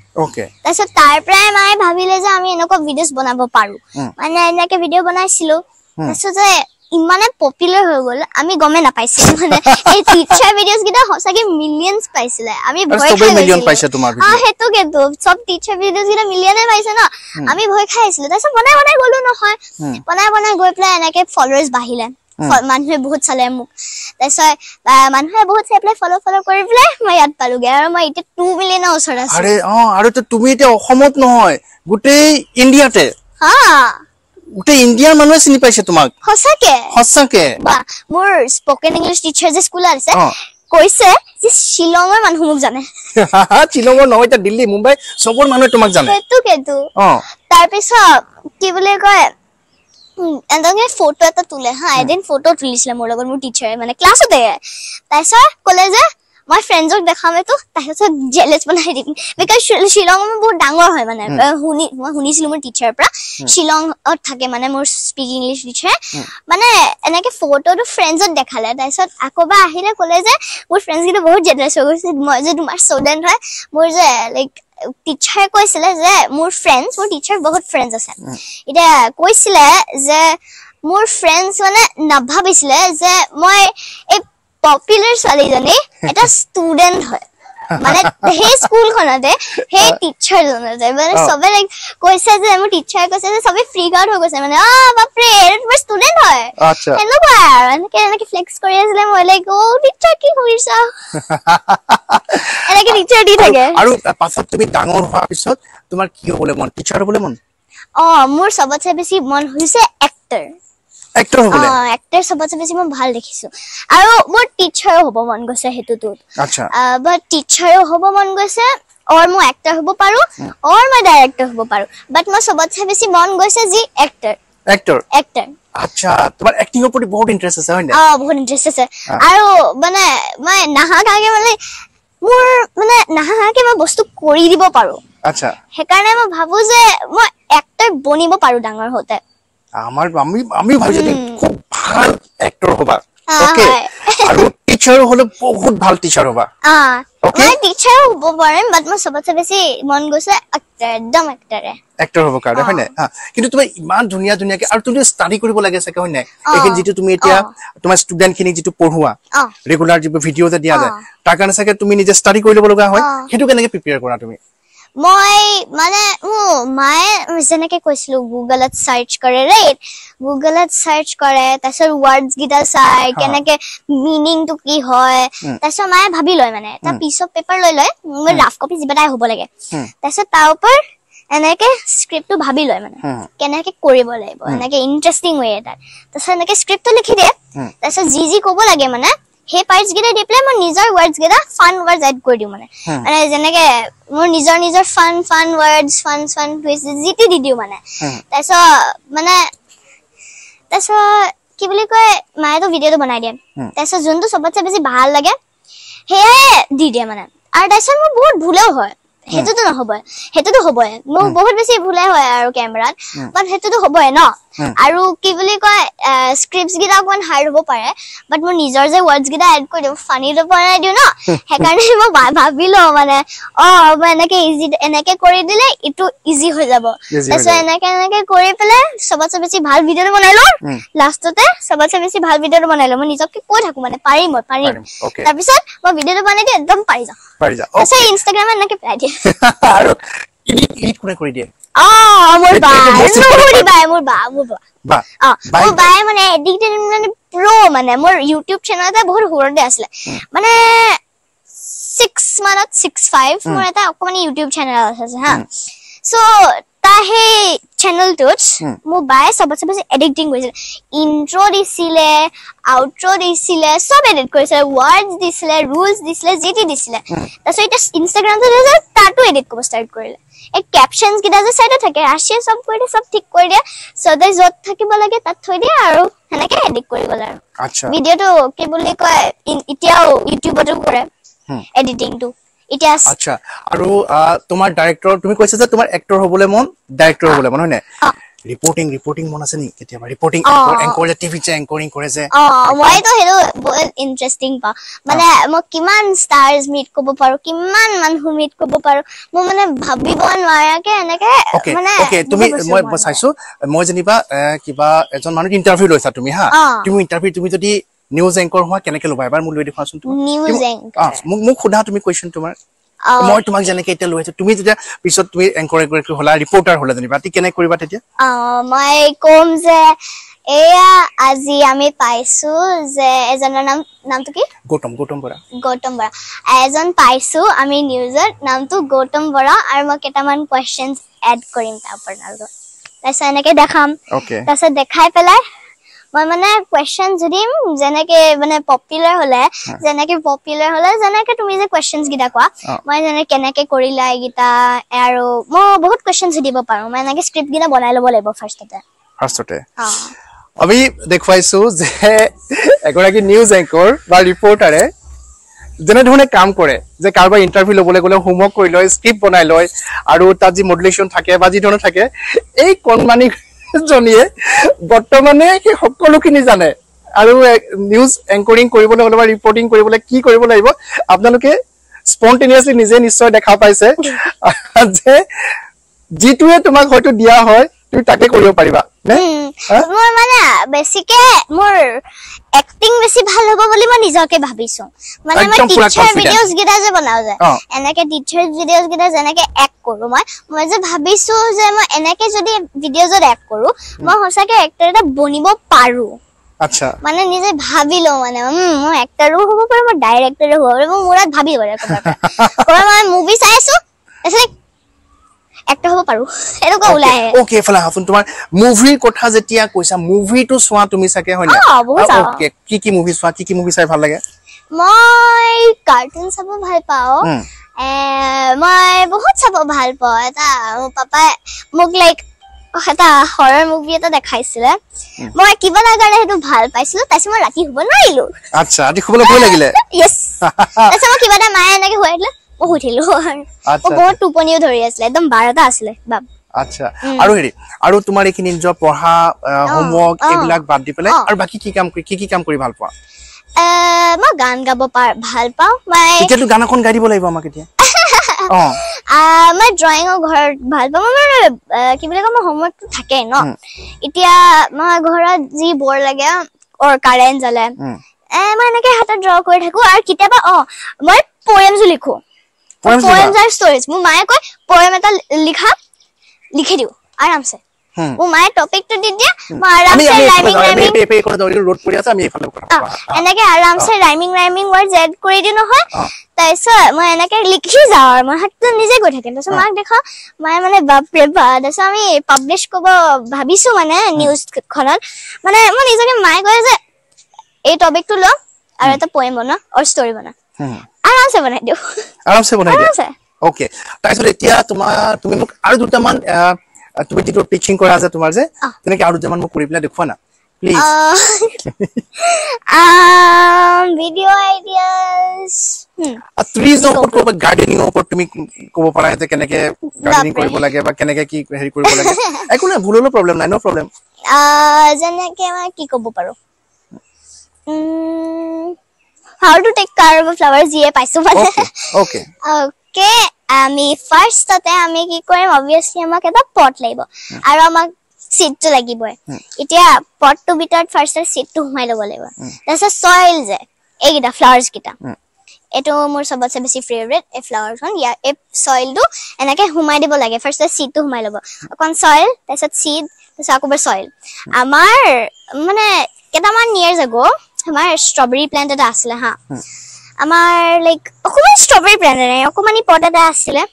[SPEAKER 2] তাৰপিছত তাৰ পৰাই মায়ে ভাবিলে যে আমি এনেকুৱা ভিডিঅ'ছ বনাব পাৰো, মানে এনেকে ভিডিঅ' বনাইছিলো। তাৰপিছত যে ইমানে পপুলাৰ হৈ গ'ল, আমি গমেই নাপাইছিলো। মানে এই টিচাৰ ভিডিঅ'ছ কেইটা সঁচাকে মিলিয়নছ পাইছিলে, আমি
[SPEAKER 1] আৰু
[SPEAKER 2] ভয়
[SPEAKER 1] চবেই
[SPEAKER 2] খাই
[SPEAKER 1] মিলিয়ন
[SPEAKER 2] গৈছিলো।
[SPEAKER 1] পাইছে তোমাৰ ভিডিঅ'।
[SPEAKER 2] সেইটোকেতো, চব টিচাৰ ভিডিঅ'ছ কেইটা মিলিয়নে পাইছে ন, আমি ভয় খাই আছিলো। তাৰপিছত বনাই বনাই গ'লো নহয়, বনাই বনাই গৈ পেলাই এনেকে ফলোৱাৰ্ছ বাঢ়িলে, মানুহে বহুত চালে মোক। তাৰপিছত মানুহে বহুত চাই পেলাই ফ'ল' কৰি পেলাই মই ইয়াত পালোগে, আৰু মই এতিয়া 2 মিলিয়নৰ ওচৰত আছো।
[SPEAKER 1] আৰে অ, আৰু তো তুমি এতিয়া অসমত নহয়, গোটেই ইণ্ডিয়াতে।
[SPEAKER 2] হা।
[SPEAKER 1] গোটেই ইণ্ডিয়াৰ মানুহে চিনি পাইছে তোমাক।
[SPEAKER 2] সঁচাকে?
[SPEAKER 1] সঁচাকে।
[SPEAKER 2] বা, মোৰ স্পকেন ইংলিছ টিচাৰ যে স্কুলত আছে, কৈছে যে শ্বিলঙৰ মানুহ মোক জানে।
[SPEAKER 1] শ্বিলঙৰ নহয়, এতিয়া দিল্লী, মুম্বাই চবৰ মানুহে তোমাক জানে।
[SPEAKER 2] সেইটোকেতো। তাৰপিছত কি বুলি কয়, এনেকে ফটো এটা তোলে হা, এদিন ফটো তুলিছিলে মোৰ লগত মোৰ টিচাৰে, মানে ক্লাছতে। তাৰপিছত ক'লে যে মই ফ্ৰেণ্ডছক দেখাম এইটো, তাৰপিছত জেলেছ বনাই দিম, because Shillong বহুত ডাঙৰ হয় মানে। মই শুনিছিলো মোৰ টিচাৰৰ পৰা, শ্বিলঙত থাকে মানে মোৰ স্পীক ইংলিছ টিচাৰে। মানে এনেকে ফটোটো ফ্ৰেণ্ডছত দেখালে, তাৰপিছত আকৌ বা আহিলে ক'লে যে মোৰ ফ্ৰেণ্ডছ কেইটা বহুত জেলেছ হৈ গৈছে, মই যে তোমাৰ ষ্টুডেণ্ট হয়। মোৰ যে লাইক টিচাৰে কৈছিলে যে মোৰ ফ্ৰেণ্ডছ, মোৰ টিচাৰ বহুত ফ্ৰেণ্ডছ আছে, এতিয়া কৈছিলে যে মোৰ ফ্ৰেণ্ডছ মানে নাভাবিছিলে যে মই এই পপুলাৰ ছোৱালীজনী এটা ষ্টুডেণ্ট হয়, মানে সেই স্কুলখনতে সেই টিচাৰজনতে মানে চবে লাইক কৈছে যে মোৰ টিচাৰে কৈছে যে চবে ফ্ৰী আউট হৈ গৈছে, মানে অ বাপৰে এইটো তোমাৰ ষ্টুডেণ্ট হয়, সেনেকুৱা আৰু এনেকে এনেকে ফ্লেক্স কৰি আছিলে। মই লাইক অ টিচাৰ কি কৰিছা, এনেকে টিচাৰ দি থাকে।
[SPEAKER 1] আৰু পাছত তুমি ডাঙৰ হোৱাৰ পিছত তোমাৰ কি হ'বলৈ মন, টিচাৰ হ'বলৈ মন?
[SPEAKER 2] অ, মোৰ চবতছে বেছি মন হৈছে এক্টৰ।
[SPEAKER 1] এক্টৰ হ'বলৈ?
[SPEAKER 2] এক্টৰ চবতছে বেছি মই ভাল দেখিছো। আৰু মোৰ টিচাৰো হ'ব মন গৈছে সেইটোত।
[SPEAKER 1] আচ্ছা।
[SPEAKER 2] বাট টিচাৰো হ'ব মন গৈছে, অৰ মই এক্টৰ হ'ব পাৰো, অৰ মই ডাইৰেক্টৰ হ'ব পাৰো, বাট মই চবতছে বেছি মন গৈছে যি এক্টৰ।
[SPEAKER 1] এক্টৰ?
[SPEAKER 2] এক্টৰ।
[SPEAKER 1] আচ্ছা, তোমাৰ এক্টিঙৰ প্ৰতি বহুত ইন্টাৰেষ্ট আছে, হয় নাই?
[SPEAKER 2] অ, বহুত ইন্টাৰেষ্ট আছে। আৰু মানে মই নাহাকে মানে মোৰ মানে নাহাকে মই বস্তু কৰি দিব পাৰো।
[SPEAKER 1] আচ্ছা।
[SPEAKER 2] সেইকাৰণে মই ভাবো যে মই এক্টৰ বনিব পাৰো ডাঙৰ হওঁতে।
[SPEAKER 1] আমি ভাবিছো যে খুব ভাল এক্টৰ হবা। ওকে। আৰু টিচাৰ হলে বহুত ভাল টিচাৰ হবা।
[SPEAKER 2] মই টিচাৰ হ'ব পাৰিম, বাট মই চবতছে বেছি মন গৈছে এক্টৰ, একদম এক্টৰে।
[SPEAKER 1] এক্টৰ হ'ব কাৰণে, হয় নাই? কিন্তু তুমি ইমান ধুনীয়া ধুনীয়াকে, আৰু তুমি ষ্টাডি কৰিব লাগে চাগে, হয় নাই? এইখিনি যিটো তুমি এতিয়া তোমাৰ ষ্টুডেণ্ট খিনিক যিটো পঢ়োৱা, ৰেগুলাৰ যিবোৰ ভিডিঅ' যে দিয়া যায়, তাৰ কাৰণে চাগে তুমি নিজে ষ্টাডি কৰি ল'ব লগা হয়। সেইটো কেনেকে প্ৰিপেয়াৰ কৰা তুমি?
[SPEAKER 2] মই মানে মোৰ মায়ে যেনেকে কৈছিলো গুগলত চাৰ্চ কৰে, ৰাইট? গুগলত চাৰ্চ কৰে, তাৰপিছত ৱৰ্ডছ কেইটা চাই কেনেকে মিনিংটো কি হয়, তাৰপিছত মায়ে ভাবি লয়, মানে এটা পিচ অফ পেপাৰ লৈ লয়, মোৰ ৰাফ কপি যিবা এটা হ'ব লাগে, তাৰপিছত তাৰ ওপৰত এনেকে স্ক্ৰিপ্টটো ভাবি লয়, মানে কেনেকে কৰিব লাগিব, এনেকে ইণ্টাৰেষ্টিং ৱে এটাত, তাৰপিছত এনেকে স্ক্ৰিপ্টটো লিখি দিয়ে, তাৰপিছত যি যি ক'ব লাগে মানে সেই পাৰ্টছ কেইটা দি পেলাই মই নিজৰ ৱৰ্ডছ কেইটা ফান ৱৰ্ডছ এড কৰি দিওঁ। মানে মানে যেনেকে মোৰ নিজৰ নিজৰ fun fun words, fun fun twist যি টি দি দিওঁ মানে। তাৰপিছত মানে তাৰপিছত কি বুলি কয়, মায়েতো ভিডিঅ'টো বনাই দিয়ে, তাৰপিছত যোনটো চবতছে বেছি ভাল লাগে সেয়াই দি দিয়ে মানে। আৰু তাৰপিছত মোৰ বহুত ভুলেও হয়, সেইটোতো নহ'বই, সেইটোতো হ'বই, মোৰ বহুত বেছি ভুলে হয় আৰু কেমেৰাত, বাট সেইটোতো হ'বই ন। আৰু কি বুলি কয়, স্ক্ৰিপ্টছ কেইটা অকণমান হাৰ্ড হ'ব পাৰে, বাট মোৰ নিজৰ যে ৱৰ্ডছ কেইটা এড কৰি দিওঁ, ফানিটো বনাই দিওঁ ন, সেইকাৰণে মই ভাবি লওঁ মানে অ মই এনেকে ইজি এনেকে কৰি দিলে ইটো ইজি হৈ যাব। তাৰপিছত এনেকে এনেকে কৰি পেলাই চবতছে বেছি ভাল ভিডিঅ'টো বনাই লওঁ, লাষ্টতে চবতছে বেছি ভাল ভিডিঅ'টো বনাই লওঁ। মই নিজকে কৈ থাকো মানে পাৰিম, মই পাৰিম। তাৰপিছত মই ভিডিঅ'টো বনাই দিওঁ, একদম পাৰি যাওঁ। তাৰপিছত ইনষ্টাগ্ৰামত এনেকে পেলাই দিয়ে।
[SPEAKER 1] আৰু এডিট কোনে কৰি দিয়ে?
[SPEAKER 2] অ, মোৰ বা, মোৰ বা, মোৰ বা, অ, মোৰ বায়ে মানে এডিক্টেড মানে প্ৰ', মানে মোৰ ইউটিউব চেনেল এটা বহুত সৰুতে আছিলে, মানে 6 মানত, 6 5 মোৰ এটা অকণমান ইউটিউব চেনেল আছে হা। চ' তাৰ সেই চেনেলটোত মোৰ বায়ে চবতছে বেছি এডিটিং কৰিছিলে, ইন্ট্ৰ' দিছিলে, আউট্ৰ' দিছিলে, চব এডিট কৰিছিলে, ৱৰ্ডছ দিছিলে, ৰুলছ দিছিলে, যি টি দিছিলে। তাৰপিছত এতিয়া ইনষ্টাগ্ৰামটো তাতো এডিট কৰিব ষ্টাৰ্ট কৰিলে। এই কেপশ্যনছ কেইটা যে চাইডত থাকে, ৰাশিয়ে চব কৰি দিয়ে, চব ঠিক কৰি দিয়ে, সদায় য'ত থাকিব লাগে তাত থৈ দিয়ে, আৰু সেনেকে এডিট কৰিব লাগে। ভিডিঅ'টো কি বুলি কয়, এতিয়াও ইউটিউবতো কৰে এডিটিংটো এতিয়া।
[SPEAKER 1] আচ্ছা, আৰু তোমাৰ ডাইৰেক্টৰ, তুমি কৈছা যে তোমাৰ এক্টৰ হ'বলৈ মন, ডাইৰেক্টৰ হ'বলৈ মন, হয় নাই? ৰিপৰ্টিং, ৰিপৰ্টিং মন আছে নেকি কেতিয়াবা? ৰিপৰ্টিং, এংকৰ যে টিভিত যে এংকৰিং কৰে যে?
[SPEAKER 2] অ, মইতো সেইটো বহুত ইণ্টাৰেষ্টিং পাওঁ। মানে মই কিমান ষ্টাৰ্ছ মিট কৰিব পাৰো, কিমান মানুহ মিট কৰিব পাৰো, মোৰ মানে ভাবিব নোৱাৰাকে এনেকে মানে।
[SPEAKER 1] তুমি, মই চাইছো, মই যেনিবা কিবা এজন মানুহক ইণ্টাৰভিউ লৈছা তুমি, হা, তুমি ইণ্টাৰভিউ, তুমি যদি নিউজ এংকৰ হোৱা কেনেকে ল'বা, এবাৰ মোক লৈ দেখুৱাচোন। তুমি
[SPEAKER 2] নিউজ এংকৰ,
[SPEAKER 1] মোক সোধা তুমি কুৱেশ্যন তোমাৰ, মই তোমাক যেনেকে এতিয়া লৈ আহিছো, তুমি যেতিয়া পিছত তুমি এংকৰ এগৰাকী হ'লা, ৰিপৰ্টাৰ হ'লা যেনিবা, কেনেকে কৰিবা তেতিয়া?
[SPEAKER 2] মই ক'ম যে এয়া আজি আমি পাইছো যে এজনৰ নাম, নামটো কি?
[SPEAKER 1] গৌতম, গৌতম বৰা।
[SPEAKER 2] গৌতম বৰা এজন পাইছো আমি নিউজত, নামটো গৌতম বৰা, আৰু মই কেইটামান কুৱেশ্যনছ এড কৰিম তাৰ ওপৰত, তাৰপিছত এনেকে দেখাম, তাৰপিছত দেখাই পেলাই মই মানে কুৱেশ্যন সুধিম, যেনেকে মানে পপুলাৰ হলে, যেনেকে পপুলাৰ হলে যেনেকে তুমি যে কুৱেশ্যনছ কেইটা কোৱা, মই যেনে কেনেকে কৰিলা এইকেইটা, আৰু মই বহুত কুৱেশ্যন সুধিব পাৰো। মই এনেকে স্ক্ৰিপ্ট কেইটা বনাই ল'ব লাগিব ফাৰ্ষ্টতে।
[SPEAKER 1] ফাৰ্ষ্টতে আমি দেখুৱাইছো যে এগৰাকী নিউজ এংকৰ বা ৰিপৰ্টাৰে যেনেধৰণে কাম কৰে, যে কাৰোবাৰ ইণ্টাৰভিউ ল'বলৈ গ'লে হোমৱৰ্ক কৰি লয়, স্ক্ৰিপ্ট বনাই লয়, আৰু তাত যি মডুলেশ্যন থাকে বা যি ধৰণৰ থাকে, এই কণমানি জনীয়ে বৰ্তমানে সেই সকলোখিনি জানে। আৰু নিউজ এংকৰিং কৰিবলৈ হ'লে বা ৰিপৰ্টিং কৰিবলৈ কি কৰিব লাগিব, আপোনালোকে স্পন্টেনিয়াছলি নিজে নিশ্চয় দেখা পাইছে যে যিটোৱে তোমাক হয়তো দিয়া হয় তুমি তাকে কৰিব পাৰিবা।
[SPEAKER 2] মোৰ মানে বেছিকে মোৰ এক্টিং বেছি ভাল হ'ব বুলি মই নিজকে ভাবিছো। মানে মই টিচাৰ ভিডিঅ'জ কেইটা যে বনাও যে, এনেকে টিচাৰ ভিডিঅ'জ কেইটা যেনেকে এক্ট কৰো, মই যে ভাবিছো যে মই এনেকে যদি ভিডিঅ'জত এক্ট কৰো, মই সঁচাকে এক্টৰ এটা বনিব পাৰো।
[SPEAKER 1] আচ্ছা,
[SPEAKER 2] মানে নিজে ভাবি লওঁ, মানে মই এক্টৰো হ'ব পাৰো, মই ডাইৰেক্টৰো হ'ব পাৰো, মই মূৰত ভাবি ল'ব। মই মুভি চাই আছো, তাৰপিছত এক্টৰ হ'ব পাৰো, এনেকুৱা ওলাই আহে।
[SPEAKER 1] অ'কে, এইফালে আহাচোন। তোমাৰ মুভিৰ কথা যেতিয়া কৈছা, মুভিটো চোৱা তুমি চাগে, হয় নাই?
[SPEAKER 2] অ, বহুত চাওঁ।
[SPEAKER 1] অ'কে, কি কি মুভি চোৱা, কি কি মুভি চাই ভাল লাগে?
[SPEAKER 2] মই কাৰ্টুন চাব ভাল পাওঁ। মই বহুত চাব ভাল পাওঁ। এটা মোৰ পাপাই মোক লাইক এটা হৰৰ মুভি এটা দেখাইছিলে, মই কিবা এটা কাৰণে সেইটো ভাল পাইছিলো। তাৰপিছত মই ৰাতি শুব নোৱাৰিলো।
[SPEAKER 1] আচ্ছা, ৰাতি শুবলৈ ভয় লাগিলে?
[SPEAKER 2] য়েছ। তাৰপিছত মই কিবা এটা মায়ে এনেকে শুৱাই দিলে, মই শুই থাকিলো। মোৰ বহুত টোপনিও ধৰি আছিলে, একদম 12টা আছিলে বাপ।
[SPEAKER 1] আচ্ছা, আৰু হেৰি, আৰু তোমাৰ এইখিনি নিজৰ পঢ়া, হোমৱৰ্ক এইবিলাক বাদ দি পেলাই আৰু বাকী কি কাম কৰি, কি কি কাম কৰি ভাল পোৱা?
[SPEAKER 2] মই গান গাব ভাল পাওঁ। মই
[SPEAKER 1] এতিয়াতো গান এখন গাই দিব লাগিব আমাক এতিয়া।
[SPEAKER 2] মই ড্ৰয়িঙৰ ঘৰত ভাল পাওঁ। মই মানে, কি বুলি কয়, মোৰ হোমৱৰ্কটো থাকে ন। এতিয়া মই ঘৰত যি বৰ লাগে, কাৰেণ্ট জ্বলে, মই এনেকে হাতত ড্ৰ কৰি থাকো। আৰু কেতিয়াবা মই পয়েমছো লিখো।
[SPEAKER 1] Poems লিখা?
[SPEAKER 2] পয়েমছ আৰু ষ্টৰিজ। মোৰ মায়ে কয় পয়েম এটা লিখা, লিখি দিওঁ আৰামছে। মোৰ মায়ে টপিকটো দি দিয়ে, মই আৰামছে ৰাইমিং ৰাইমিং
[SPEAKER 1] ৰ'দ পৰি আছে, আমি এইফালে কথা পাতো।
[SPEAKER 2] এনেকে আৰামছে ৰাইমিং ৰাইমিং ৱৰ্ডছ এড কৰি দিওঁ নহয়। তাৰপিছত মই এনেকে লিখি যাওঁ আৰু মই হাতটো নিজে গৈ থাকে। তাৰপিছত মাক দেখাওঁ, মায়ে মানে বাপৰে বাপ। তাৰপিছত আমি পাব্লিছ কৰিব ভাবিছো মানে নিউজখনত। মানে মই নিজকে মায়ে কয় যে এই টপিকটো ল আৰু এটা পয়েম বনা আৰু ষ্টৰি বনা, আৰামছে বনাই দিওঁ।
[SPEAKER 1] আৰামছে বনাই দিয়া?
[SPEAKER 2] আৰামছে।
[SPEAKER 1] অ'কে, তাৰপিছত এতিয়া তুমি মোক আৰু দুটামান, তুমি যিটো টিচিং কৰা আছে তোমাৰ যে, তেনেকে আৰু দুটামান মোক কৰি পেলাই দেখুওৱা না প্লিজ।
[SPEAKER 2] ভিডিঅ' আইডিয়াছ,
[SPEAKER 1] ট্ৰিজৰ ওপৰত ক'ব, গাৰ্ডেনিঙৰ ওপৰত তুমি ক'ব পাৰা যে কেনেকে গাৰ্ডেনিং
[SPEAKER 2] বাপৰে।
[SPEAKER 1] কৰিব লাগে বা কেনেকে কি হেৰি কৰিব লাগে। একো নাই, ভুল হ'লেও প্ৰব্লেম নাই, ন' প্ৰব্লেম।
[SPEAKER 2] যেনেকে মই কি ক'ব পাৰো, how to take care of flower, যিয়ে পাইছো মানে।
[SPEAKER 1] অ'কে।
[SPEAKER 2] অ'কে, আমি ফাৰ্ষ্টতে আমি কি কৰিম, অবভিয়াছলি আমাক এটা পট লাগিব আৰু আমাক চিডটো লাগিবই। এতিয়া পটটোৰ ভিতৰত ফাৰ্ষ্টত চিডটো সোমাই ল'ব লাগিব। তাৰপিছত চইল যে এইকেইটা ফ্লাৱাৰ্ছ কেইটা, এইটো মোৰ চবতছে বেছি ফেভৰেট এই ফ্লাৱাৰখন। ইয়াৰ এই চইলটো এনেকে সোমাই দিব লাগে। ফাৰ্ষ্টত চিডটো সোমাই ল'ব, অকণ চইল, তাৰপিছত চিড, তাৰপিছত আকৌ এবাৰ চইল। আমাৰ মানে কেইটামান ইয়েৰ্ছ আগো আমাৰ ষ্ট্ৰবেৰী প্লেণ্ট এটা আছিলে হা। আমাৰ লাইক অকণমান ষ্ট্ৰবেৰী প্লেণ্ট নাই, অকণমানি পট এটা আছিলে।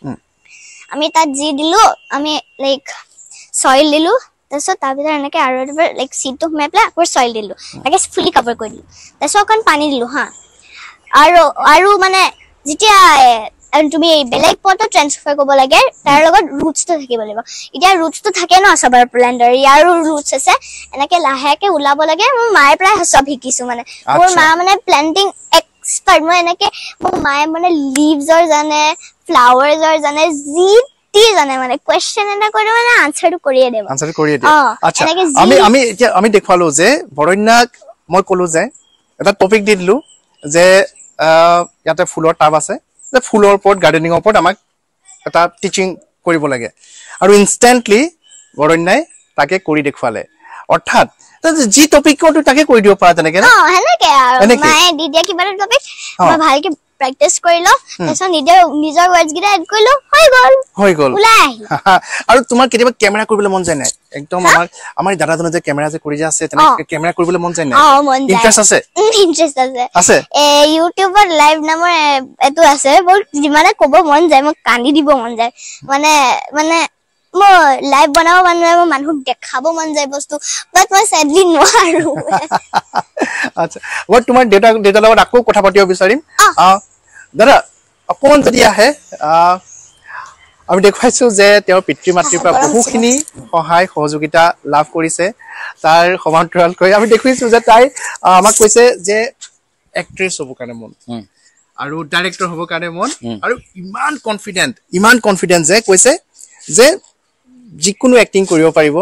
[SPEAKER 2] আমি তাত যি দিলো, আমি লাইক চইল দিলো, তাৰপিছত তাৰ ভিতৰত এনেকে আৰু এবাৰ লাইক চিডটো সোমাই পেলাই আকৌ চইল দিলো, এনেকে ফুলি কাভাৰ কৰি দিলো, তাৰপিছত অকণ পানী দিলো হা। আৰু মানে যেতিয়া তুমি বেলেগ পটত ট্ৰেন্সফাৰ কৰিব লাগে, তাৰ লগত ৰুটছটো থাকিব লাগিব। এতিয়া ৰুটছটো থাকে ন চবৰ প্লেণ্টৰ, ইয়াৰো ৰুটছ আছে, এনেকে লাহেকে ওলাব লাগে। মোৰ মায়ে প্ৰায় চব শিকিছো মানে। মোৰ মা মানে প্লেণ্টিং এক্সপাৰ্ট। মই এনেকে মোৰ মায়ে মানে লিভছৰ জানে, ফ্লাৱাৰ্ছৰ জানে, যি টি জানে, মানে কুৱেশ্যন এটা কৰি মানে আনচাৰটো কৰিয়ে দিব।
[SPEAKER 1] আনচাৰটো কৰিয়ে দিয়ে।
[SPEAKER 2] এনেকে যি
[SPEAKER 1] আমি এতিয়া আমি দেখুৱালো যে বৰণ্যাক মই ক'লো যে এটা টপিক দি দিলো যে, ইয়াতে ফুলৰ টাব আছে, যে ফুলৰ ওপৰত, গাৰ্ডেনিঙৰ ওপৰত আমাক এটা টিচিং কৰিব লাগে, আৰু ইনষ্টেণ্টলি বৰণ্যাই তাকে কৰি দেখুৱালে। অৰ্থাৎ যি টপিকটো তাকে কৰি দিব পাৰা তেনেকে নে?
[SPEAKER 2] অ, সেনেকে আৰু।
[SPEAKER 1] এনেকে?
[SPEAKER 2] মায়ে দি দিয়া কিবা এটা টপিক মই ভালকে প্ৰেক্টিচ কৰি লওঁ, তাৰপিছত নিজৰ ৱৰ্ডছ কেইটা এড কৰি লওঁ, হৈ গ'ল।
[SPEAKER 1] হৈ গ'ল।
[SPEAKER 2] ওলাই আহিল।
[SPEAKER 1] আৰু তোমাৰ কেতিয়াবা কেমেৰা কৰিবলৈ মন যায় নাই? একদম আমাৰ দাদাজনে যে কেমেৰা যে কৰি যে আছে, তেনেকে কেমেৰা কৰিবলৈ মন যায় নাই?
[SPEAKER 2] অ, মন যায়।
[SPEAKER 1] ইণ্টাৰেষ্ট আছে?
[SPEAKER 2] ইণ্টাৰেষ্ট আছে।
[SPEAKER 1] আছে?
[SPEAKER 2] ইউটিউবত লাইভ নামৰ এইটো আছে, বহুত যিমানে ক'ব মন যায়, মোক কান্দি দিব মন যায়। মানে মোৰ লাইভ বনাব মন যায়, মোৰ মানুহক দেখাব মন যায় বস্তু, বাট মই চেডলি নোৱাৰো।
[SPEAKER 1] আচ্ছা, মই তোমাৰ দেউতাৰ লগত আকৌ কথা পাতিব বিচাৰিম। দাদা অকণমান যদি আহে, আমি দেখুৱাইছো যে তেওঁৰ পিতৃ মাতৃৰ পৰা বহুখিনি সহায় সহযোগিতা লাভ কৰিছে। তাৰ সমান্তৰালকৈ আমি দেখুৱাইছো যে তাই আমাক কৈছে যে এক্ট্ৰেছ হ'ব কাৰণে মন আৰু ডাইৰেক্টৰ হ'ব কাৰণে মন, আৰু ইমান কনফিডেণ্ট যে কৈছে যে যিকোনো এক্টিং কৰিব পাৰিব,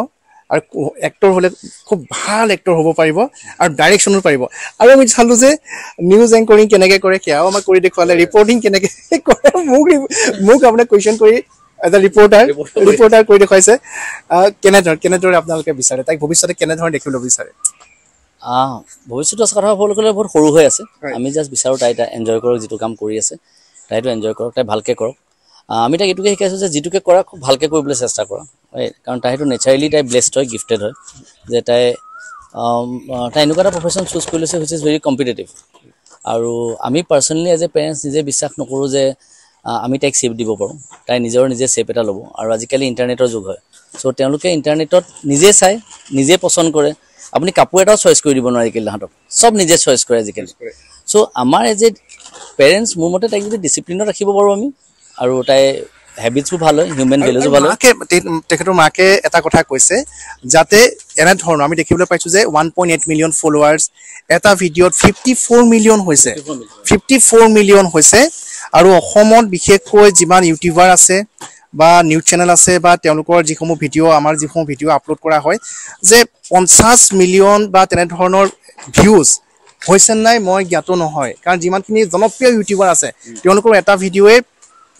[SPEAKER 1] আৰু এক্টৰ হ'লে খুব ভাল এক্টৰ হ'ব পাৰিব, আৰু ডাইৰেকশ্যনো পাৰিব। আৰু আমি চালো যে নিউজ এংকৰিং কেনেকে কৰে সেয়াও আমাক কৰি দেখুৱালে, ৰিপৰ্টিং কেনেকে কৰে, মোক আপোনাক কুৱেশ্যন কৰি এটা ৰিপৰ্টাৰ কৰি দেখুৱাইছে। কেনেদৰে আপোনালোকে বিচাৰে তাইক ভৱিষ্যতে কেনেধৰণে দেখিবলৈ বিচাৰে?
[SPEAKER 4] ভৱিষ্যতৰ কথা ক'বলৈ গ'লে বহুত সৰু হৈ আছে। আমি জাষ্ট বিচাৰোঁ তাই এটা এনজয় কৰক, যিটো কাম কৰি আছে তাইতো এনজয় কৰক, তাই ভালকে কৰক। আমি তাইক এইটোকে শিকাইছোঁ যে যিটোকে কৰা খুব ভালকে কৰিবলৈ চেষ্টা কৰা, কাৰণ তাই সেইটো নেচাৰেলি তাই ব্লেছড হয়, গিফটেড হয়, যে তাই এনেকুৱা এটা প্ৰফেশ্যন চুজ কৰি লৈছে which is very competitive. আৰু আমি পাৰ্চনেলি এজ এ পেৰেণ্টছ নিজে বিশ্বাস নকৰোঁ যে আমি তাইক শ্বেপ দিব পাৰোঁ, তাই নিজৰ নিজে শ্বেপ এটা ল'ব। আৰু আজিকালি ইণ্টাৰনেটৰ যুগ হয়, চ' তেওঁলোকে ইণ্টাৰনেটত নিজে চায়, নিজে পচন্দ কৰে। আপুনি কাপোৰ এটাও চইচ কৰি দিব নোৱাৰে আজিকালি, তাহাঁতক চব নিজে চইচ কৰে আজিকালি। চ' আমাৰ এজ এ পেৰেণ্টছ মোৰ মতে তাইক যদি ডিচিপ্লিনত ৰাখিব পাৰোঁ আমি, আৰু তাই হেবিটছবোৰ ভাল হয়, হিউমেন ভেলুজো ভাল হয়।
[SPEAKER 1] তেখেতৰ মাকে এটা কথা কৈছে যাতে এনেধৰণৰ আমি দেখিবলৈ পাইছোঁ যে 1.8 মিলিয়ন ফলোৱাৰ্ছ, এটা ভিডিঅ'ত 54 মিলিয়ন হৈছে, 54 মিলিয়ন হৈছে। আৰু অসমত বিশেষকৈ যিমান ইউটিউবাৰ আছে বা নিউজ চেনেল আছে বা তেওঁলোকৰ যিসমূহ ভিডিঅ', আমাৰ যিসমূহ ভিডিঅ' আপলোড কৰা হয়, যে 50 মিলিয়ন বা তেনেধৰণৰ ভিউজ হৈছে নাই মই জ্ঞাত নহয়, কাৰণ যিমানখিনি জনপ্ৰিয় ইউটিউবাৰ আছে তেওঁলোকৰ এটা ভিডিঅ'য়ে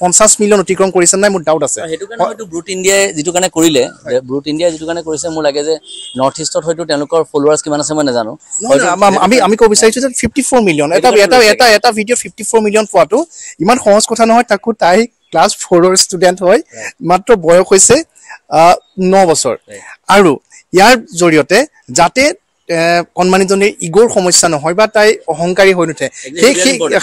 [SPEAKER 1] 50 মিলিয়ন অতিক্ৰম কৰিছে নাই মোৰ ডাউট আছে।
[SPEAKER 4] সেইটো কাৰণে হয়তো ব্ৰুট ইণ্ডিয়াই যিটো কাৰণে কৰিলে, ব্ৰুট ইণ্ডিয়াই যিটো কাৰণে কৰিছে, মোৰ লাগে যে নৰ্থ ইষ্টত হয়তো তেওঁলোকৰ ফলোৱাৰ্ছ কিমান আছে মই নাজানো।
[SPEAKER 1] আমি ক'ব বিচাৰিছোঁ যে 54 মিলিয়ন এটা এটা এটা এটা ভিডিঅ' 54 মিলিয়ন পোৱাটো ইমান সহজ কথা নহয়। তাকো তাই ক্লাছ 4ৰ ষ্টুডেণ্ট হয়, মাত্ৰ বয়স হৈছে 9 বছৰ। আৰু ইয়াৰ জৰিয়তে যাতে কণমানিজনীৰ ইগ'ৰ সমস্যা নহয় বা তাই অহংকাৰী হৈ নুঠে,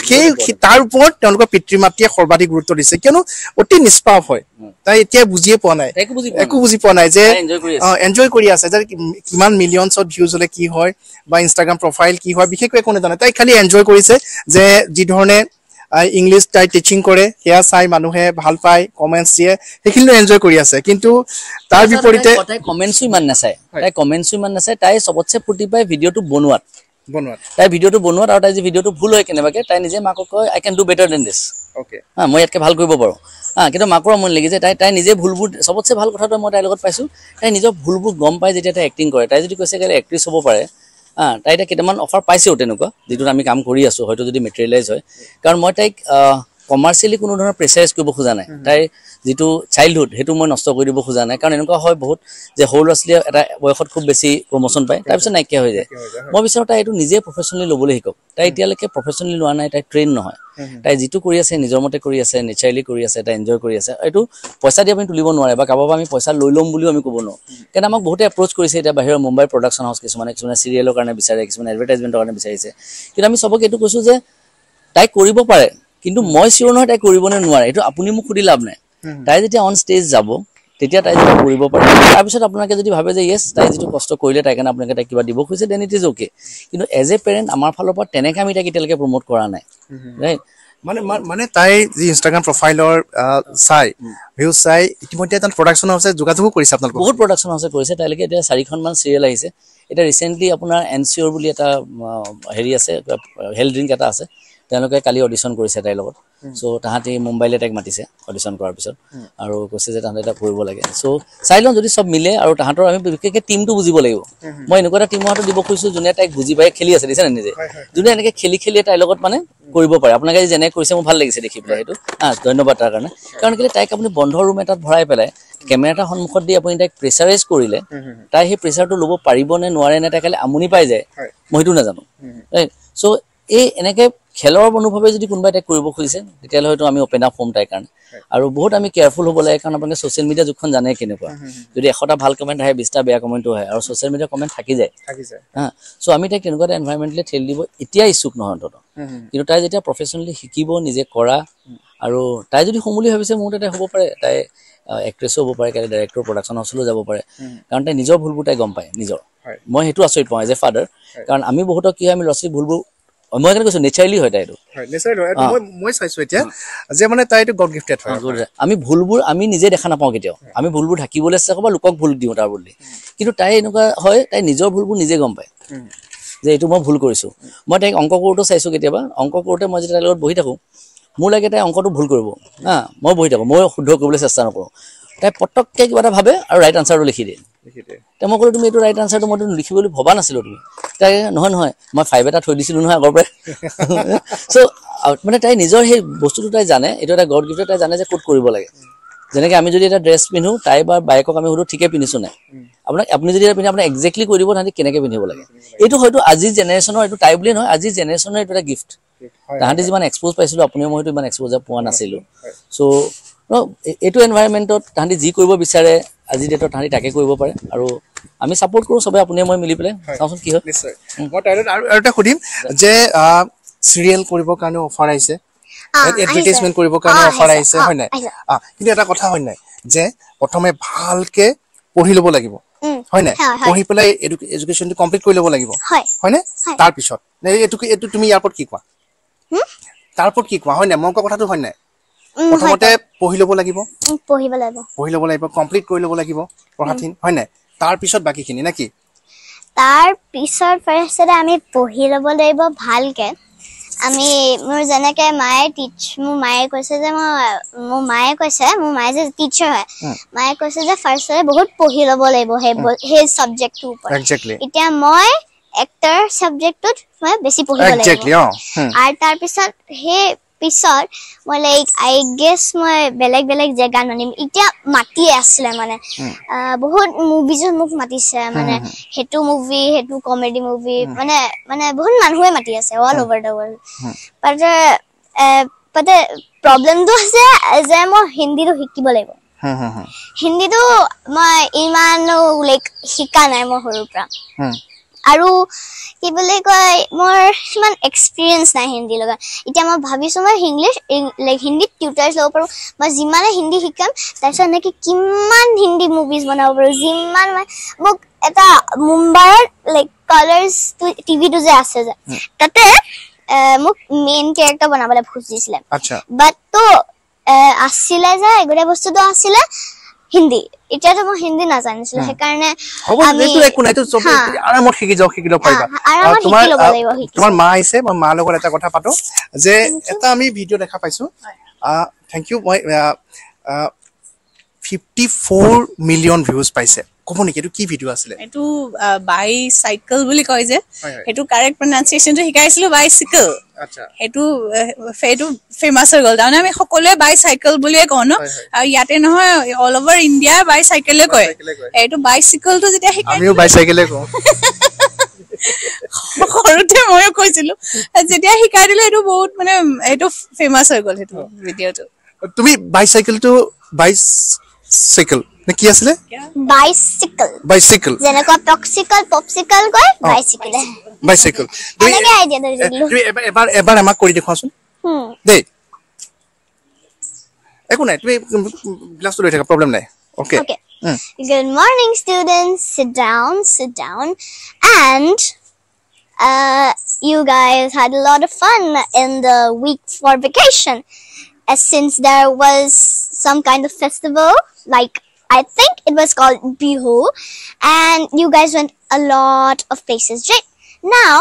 [SPEAKER 1] সেই তাৰ ওপৰত তেওঁলোকৰ পিতৃ মাতৃয়ে সৰ্বাধিক গুৰুত্ব দিছে। কিয়নো অতি নিষ্পাপ হয়, তাই এতিয়া বুজিয়ে পোৱা নাই, একো বুজি পোৱা নাই যে এনজয় কৰি আছে, যে কিমান মিলিয়নছত ভিউজ হ'লে কি হয় বা ইনষ্টাগ্ৰাম প্ৰফাইল কি হয়, বিশেষকৈ একো নাজানে। তাই খালি এনজয় কৰিছে যে যিধৰণে ইংলিছ তাই টিচিং কৰে সেয়া চাই মানুহে ভাল পায়, কমেণ্টছ দিয়ে, সেইখিনিও এনজয় কৰি আছে। কিন্তু তাৰ বিপৰীতে
[SPEAKER 4] তাই কমেণ্টছো ইমান নাচায়, তাই কমেণ্টছো ইমান নাচায়, তাই চবতছে ফূৰ্তি পায় ভিডিঅ'টো বনোৱাত, তাই ভিডিঅ'টো বনোৱাত। আৰু তাই যি ভিডিঅ'টো ভুল হয় কেনেবাকে, তাই নিজে মাকক কয় I can do better than this, হা মই ইয়াতকৈ ভাল কৰিব পাৰোঁ। হা, কিন্তু মাকৰ আমনি লাগি যায়। তাই নিজে ভুলবোৰ, চবতছে ভাল কথাটো মই তাইৰ লগত পাইছোঁ, তাই নিজৰ ভুলবোৰ গম পাই যেতিয়া তাই এক্টিং কৰে। তাই যদি কৈছে কাইলৈ এক্ট্ৰেছ হ'ব পাৰে, হা, তাই এতিয়া কেইটামান অফাৰ পাইছেও তেনেকুৱা, যিটোত আমি কাম কৰি আছোঁ, হয়তো যদি মেটেৰিয়েলাইজ হয়। কাৰণ মই তাইক কমাৰ্চিয়েলি কোনো ধৰণৰ প্ৰেচাৰাইজ কৰিব খোজা নাই, তাইৰ যিটো চাইল্ডহুড সেইটো মই নষ্ট কৰি দিব খোজা নাই। কাৰণ এনেকুৱা হয় বহুত যে সৰু ল'ৰা ছোৱালীয়ে এটা বয়সত খুব বেছি প্ৰমোশ্যন পায়, তাৰপিছত নাইকিয়া হৈ যায়। মই বিচাৰোঁ তাই এইটো নিজে প্ৰফেচনেলি ল'বলৈ শিকক। তাই এতিয়ালৈকে প্ৰফেচনেলি লোৱা নাই, তাই ট্ৰেইন নহয়, তাই যিটো কৰি আছে নিজৰ মতে কৰি আছে, নেচাৰেলি কৰি আছে, তাই এনজয় কৰি আছে। এইটো পইচা দি আপুনি তুলিব নোৱাৰে বা কাৰোবাৰ পৰা আমি পইচা লৈ ল'ম বুলিও আমি ক'ব নোৱাৰোঁ। কাৰণ আমাক বহুতে এপ্ৰ'চ কৰিছে এতিয়া বাহিৰৰ মুম্বাইৰ প্ৰডাকশ্যন হাউচ কিছুমানে, কিছুমানে চিৰিয়েলৰ কাৰণে বিচাৰে, কিছুমানে এডভাৰটাইজমেণ্টৰ কাৰণে বিচাৰিছে। কিন্তু আমি চবকে এইটো কৈছোঁ যে তাই কৰিব পাৰে, কিন্তু মই চিয়'ৰ নহয় তাই কৰিব নে নোৱাৰে, এইটো আপুনি মোক সুধি লাভ নাই। তাই যেতিয়া অন ষ্টেজ যাব তেতিয়া তাই যেতিয়া কৰিব পাৰে, তাৰপিছত আপোনালোকে যদি ভাবে যে য়েছ তাই যিটো কষ্ট কৰিলে তাই কাৰণে আপোনালোকে তাইক কিবা দিব খুজিছে, then it is okay. কিন্তু এজ এ পেৰেণ্ট আমাৰ ফালৰ পৰা তেনেকৈ আমি তাইক এতিয়ালৈকে প্ৰমোট কৰা নাই, ৰাইট?
[SPEAKER 1] মানে মানে তাই যি ইনষ্টাগ্ৰাম প্ৰফাইলৰ চাই ভিউজ চাই ইতিমধ্যে এটা প্ৰডাকশ্যন হাউচে যোগাযোগো কৰিছে আপোনালোকক,
[SPEAKER 4] বহুত প্ৰডাকশ্যন হাউচে কৰিছে। তাইলৈকে এতিয়া 4খনমান চিৰিয়েল আহিছে। এতিয়া ৰিচেণ্টলি আপোনাৰ এনচিঅ'ৰ বুলি এটা হেৰি আছে, হেল্থ ড্ৰিংক এটা আছে, তেওঁলোকে কালি অডিশ্যন কৰিছে তাইৰ লগত। চ' তাহাঁতি মুম্বাইলৈ তাইক মাতিছে অডিশ্যন কৰাৰ পিছত, আৰু কৈছে যে তাহাঁতে এটা কৰিব লাগে। চ' চাই লওঁ যদি চব মিলে। আৰু তাহাঁতৰ আমি বিশেষকৈ টিমটো বুজিব লাগিব। মই এনেকুৱা এটা টিমৰ হাতত দিব খুজিছোঁ যোনে তাইক বুজি পাই খেলি আছে, দিছে নে নিজে, যোনে এনেকৈ খেলি খেলি তাইৰ লগত মানে কৰিব পাৰে। আপোনালোকে যেনে কৰিছে মোৰ ভাল লাগিছে দেখি পেলাই সেইটো, হা ধন্যবাদ তাৰ কাৰণে। কাৰণ কেলৈ তাইক আপুনি বন্ধ ৰুম এটাত ভৰাই পেলাই কেমেৰা এটা সন্মুখত দি আপুনি তাইক প্ৰেচাৰাইজ কৰিলে তাই সেই প্ৰেচাৰটো ল'ব পাৰিব নে নোৱাৰে নে তাই কালি আমনি পাই যায়, মই সেইটো নাজানো। চ' এই এনেকৈ খেলৰ অনুভৱে যদি কোনোবাই তাইক কৰিব খুজিছে তেতিয়াহ'লে হয়তো আমি অ'পেন আপ হ'ম তাইৰ কাৰণে। আৰু বহুত আমি কেয়াৰফুল হ'ব লাগে, কাৰণ আপোনালোকে ছ'চিয়েল মিডিয়া যুগখন জানে কেনেকুৱা, যদি 100টা ভাল কমেণ্ট আহে 20টা বেয়া কমেণ্টো আহে, আৰু ছ'চিয়েল মিডিয়া কমেণ্ট থাকি যায়। হা, চ' আমি তাইক তেনেকুৱা এটা এনভাইৰমেণ্টলৈ ঠেলি দিব এতিয়া ইচ্ছুক নহয় অন্ততঃ। কিন্তু তাই যেতিয়া প্ৰফেচনেলি শিকিব নিজে কৰা, আৰু তাই যদি হ'ম বুলি ভাবিছে মোৰ তাতে হ'ব পাৰে, তাই এক্ট্ৰেছো হ'ব পাৰে, কাইলৈ ডাইৰেক্টৰ প্ৰডাকশ্যন হাউচলৈও যাব পাৰে। কাৰণ তাই নিজৰ ভুলবোৰ তাই গম পায় নিজৰ। মই সেইটো আচৰিত পাওঁ এজ এ ফাদাৰ, কাৰণ আমি বহুতক কি হয় আমি ল'ৰা ছোৱালী ভুলবোৰ, মই সেইকাৰণে কৈছোঁ নেচাৰেলি হয় তাই এইটো।
[SPEAKER 1] মই চাইছোঁ এতিয়া যে মানে তাই এইটো গড গিফটেড হয়।
[SPEAKER 4] আমি ভুলবোৰ আমি নিজে দেখা নাপাওঁ কেতিয়াও, আমি ভুলবোৰ ঢাকিবলৈ চেষ্টা কৰোঁ বা লোকক ভুল দিওঁ তাৰ বদলি। কিন্তু তাই এনেকুৱা হয়, তাই নিজৰ ভুলবোৰ নিজে গম পায় যে এইটো মই ভুল কৰিছোঁ। মই তাইক অংক কৰোঁতেও চাইছোঁ, কেতিয়াবা অংক কৰোঁতে মই যেতিয়া তাইৰ লগত বহি থাকোঁ মোৰ লাগে তাই অংকটো ভুল কৰিব, হা মই বহি থাকোঁ, মই শুদ্ধ কৰিবলৈ চেষ্টা নকৰোঁ। তাই পটককৈ কিবা এটা ভাবে আৰু ৰাইট আনচাৰটো লিখি দিয়ে। তেতিয়া মই ক'লোঁ তুমি এইটো ৰাইট আনচাৰটো মইতো লিখিব বুলি ভবা নাছিলোঁ তুমি। তাই নহয় নহয় মই 5 এটা থৈ দিছিলোঁ নহয় আগৰ পৰাই। চ' মানে তাই নিজৰ সেই বস্তুটো তাই জানে, এইটো এটা গড গিফ্ট, তাই জানে যে ক'ত কৰিব লাগে। যেনেকৈ আমি যদি এটা ড্ৰেছ পিন্ধো, তাই বা বায়েকক আমি সুধো ঠিকে পিন্ধিছোঁ নাই, আপোনাক আপুনি যদি এটা পিন্ধে আপোনাক একজেক্টলি কৈ দিব তাহাঁতি কেনেকৈ পিন্ধিব লাগে। এইটো হয়তো আজিৰ জেনেৰেশ্যনৰ, এইটো তাই বুলিয়ে নহয়, আজিৰ জেনেৰেশ্যনৰ এইটো এটা গিফ্ট। তাহাঁতি যিমান এক্সপ'জ পাইছিলোঁ আপুনিও মইতো ইমান এক্সপ'জাৰ পোৱা নাছিলোঁ। চ' এইটো এনভাইৰমেণ্টত তাহাঁতি যি কৰিব বিচাৰে আজিৰ ডেটত তাহাঁতি তাকে কৰিব পাৰে, আৰু আমি ছাপৰ্ট কৰোঁ চবে, আপুনিয়ে মই মিলি পেলাই চাওঁচোন কি হয়।
[SPEAKER 1] নিশ্চয়। মই তাইৰ আৰু এটা সুধিম যে চিৰিয়েল কৰিবৰ কাৰণে অফাৰ আহিছে, এডভাৰটাইজমেণ্ট কৰিবৰ কাৰণে অফাৰ আহিছে, হয় নাই? কিন্তু এটা কথা হয় নাই যে প্ৰথমে ভালকে পঢ়ি ল'ব লাগিব, হয় নাই? পঢ়ি পেলাই এডুকেশ্যনটো কমপ্লিট কৰি ল'ব লাগিব, হয়নে? তাৰপিছত এইটো তুমি ইয়াৰ ওপৰত কি কোৱা? তাৰ ওপৰত কি কোৱা, হয় নাই? মই কোৱা কথাটো হয় নাই? প্ৰথমতে পঢ়ি ল'ব লাগিব, পঢ়ি ল'ব লাগিব, কমপ্লিট কৰি ল'ব লাগিব পঢ়াখিনি, হয় নাই? তাৰপিছত বাকীখিনি নেকি?
[SPEAKER 2] তাৰ পিছত ফাৰ্ষ্টতে আমি পঢ়ি ল'ব লাগিব ভালকে। আমি মোৰ যেনেকে মায়ে টিচ মোৰ মায়ে কৈছে যে মোৰ মায়ে কৈছে, মোৰ মায়ে যে টিচাৰ হয়, মায়ে কৈছে যে ফাৰ্ষ্টতে বহুত পঢ়ি ল'ব লাগিব সেই চাবজেক্টটোৰ ওপৰত। এতিয়া মই এক্টৰ চাবজেক্টটোত মই বেছি পঢ়িব লাগিব, আৰু তাৰপিছত সেই পিছত মই লাইক I guess মই বেলেগ বেলেগ জেগাত মাতিম। এতিয়া মাতিয়ে আছিলে মানে বহুত মুভিজত মোক মাতিছে, মানে সেইটো মুভি, সেইটো কমেডি মুভি, মানে মানে বহুত মানুহে মাতি আছে অল অভাৰ the world. তাতে প্ৰব্লেমটো আছে যে মই হিন্দীটো শিকিব লাগিব। হিন্দীটো মই ইমানো লাইক শিকা নাই মই সৰুৰ পৰা, আৰু কি বুলি কয় মোৰ সিমান এক্সপিৰিয়েঞ্চ নাই হিন্দীৰ লগত। এতিয়া মই ভাবিছোঁ মই ইংলিছ লাইক হিন্দীত টিউটাৰ্ছ ল'ব পাৰোঁ। মই যিমানে হিন্দী শিকাম, তাৰপিছত এনেকৈ কিমান হিন্দী মুভিজ বনাব পাৰোঁ, যিমান মই মোক এটা মুম্বাইত লাইক কালাৰ্ছ টিভিটো যে আছে যে, তাতে মোক মেইন কেৰেক্টাৰ বনাবলৈ খুজিছিলে, বাট তো আছিলে যে গোটেই বস্তুটো আছিলে হিন্দী। এতিয়াতো মই হিন্দী নাজানিছিলো, সেইকাৰণে
[SPEAKER 1] আৰামত শিকি যাওঁ, শিকি ল'ব পাৰিবা। তোমাৰ মা আহিছে, মই মাৰ লগত এটা কথা পাতো যে এটা আমি ভিডিঅ' দেখা পাইছো, thank U, মই 54 মিলিয়ন ভিউজ পাইছে। ক'ব নেকি এইটো কি ভিডিঅ' আছিলে?
[SPEAKER 3] এইটো বাইচাইকেল বুলি কয় যে, সেইটো কাৰেক্ট প্ৰনাউন্সিয়েশ্যনটো শিকাইছিলো, বাইচিকেল। সেইটো সেইটো ফেমাছ হৈ গ'ল। তাৰমানে আমি সকলোৱে বাইচাইকেল বুলিয়ে কওঁ ন, আৰু ইয়াতে নহয় অল অভাৰ ইণ্ডিয়া বাইচাইকেলে কয়। এইটো বাইচিকেলটো যেতিয়া শিকাই,
[SPEAKER 1] আমিও বাইচাইকেলে কওঁ,
[SPEAKER 3] সৰুতে ময়ো কৈছিলো। যেতিয়া শিকাই দিলো এইটো বহুত মানে এইটো ফেমাছ হৈ গ'ল সেইটো ভিডিঅ'টো।
[SPEAKER 1] তুমি বাইচাইকেলটো বাইচাইকেল নে কি আছিলে?
[SPEAKER 2] বাইচিকেল।
[SPEAKER 1] বাইচিকেল,
[SPEAKER 2] যেনেকুৱা পপচিকল পপচিকল কয়, বাইচিকেল।
[SPEAKER 1] বাইচিকেল।
[SPEAKER 2] এনেকে আইডিয়া দিলো।
[SPEAKER 1] তুমি এবাৰ এবাৰ আমাক কৰি দেখুৱাচোন দেই। একো নাই, তুমি গ্লাছটো লৈ থাকা, প্ৰব্লেম নাই। Okay.
[SPEAKER 2] Good morning, students. Sit down, sit down. And you guys had a lot of fun in the week for vacation. As since there was some kind of festival, like I think it was called Bihu, and you guys went a lot of places, right? Now,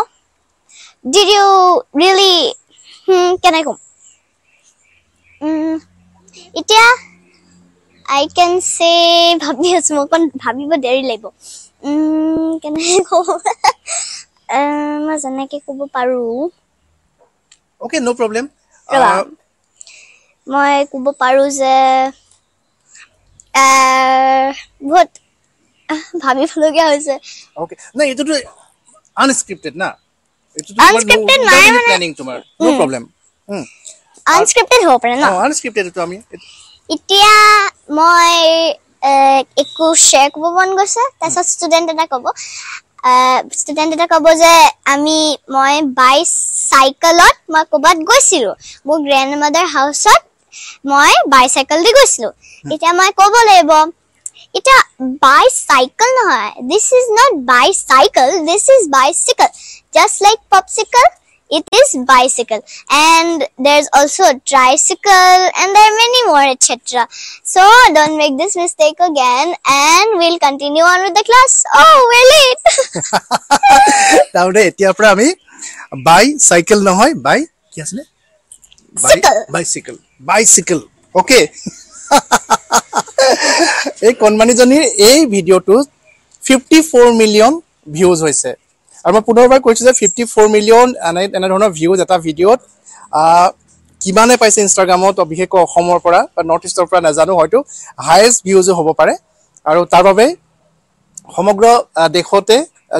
[SPEAKER 2] did you really, can I go? Itya, I can say, bhabi asu, moi okon bhabibo deri লাগিব। কেনেকে কম? মই যেনেকে ক'ব পাৰো।
[SPEAKER 1] Okay, no problem.
[SPEAKER 2] মই ক'ব পাৰো যে বহুত ভাবিবলগীয়া হৈছে।
[SPEAKER 1] অ'কে, নাই এইটোতো আনস্ক্ৰিপ্টেড না?
[SPEAKER 2] আনস্ক্ৰিপ্টেড নাই মানে
[SPEAKER 1] প্লেনিং তোমাৰ, নো প্ৰব্লেম।
[SPEAKER 2] আনস্ক্ৰিপ্টেড হ'ব পাৰে ন?
[SPEAKER 1] আনস্ক্ৰিপ্টেড এইটো আমি
[SPEAKER 2] এতিয়া মই একো শ্বেয়াৰ কৰিব মন গৈছে। তাৰপিছত ষ্টুডেণ্ট এটা ক'ব, ষ্টুডেণ্ট এটা ক'ব যে মই বাইচাইকেলত মই ক'ৰবাত গৈছিলোঁ, মোৰ গ্ৰেণ্ড মাদাৰ হাউচত মই বাইচাইকেল দি গৈছিলোঁ। এতিয়া মই ক'ব লাগিব, এতিয়া বাইচাইকেল নহয়, this is not bicycle, this is bicycle. Just like popsicle, it is bicycle. And there's also a tricycle, and there are many more, etc. So don't make this mistake again, and we'll continue on with the class. Oh, we're late.
[SPEAKER 1] তাহলে এতিয়াৰ পৰা আমি bicycle নহয়, বাই কি আছিলে? বাইচিকেল, বাইচিকেল। Okay, এই কণমানিজনীৰ এই ভিডিঅ'টোত 54 মিলিয়ন ভিউজ হৈছে। আৰু মই পুনৰবাৰ কৈছোঁ যে 54 মিলিয়ন এনেধৰণৰ ভিউজ এটা ভিডিঅ'ত কিমানে পাইছে ইনষ্টাগ্ৰামত, বিশেষকৈ অসমৰ পৰা বা নৰ্থ ইষ্টৰ পৰা নাজানো, হয়তো হায়েষ্ট ভিউজো হ'ব পাৰে। আৰু তাৰ বাবে সমগ্ৰ দেশতে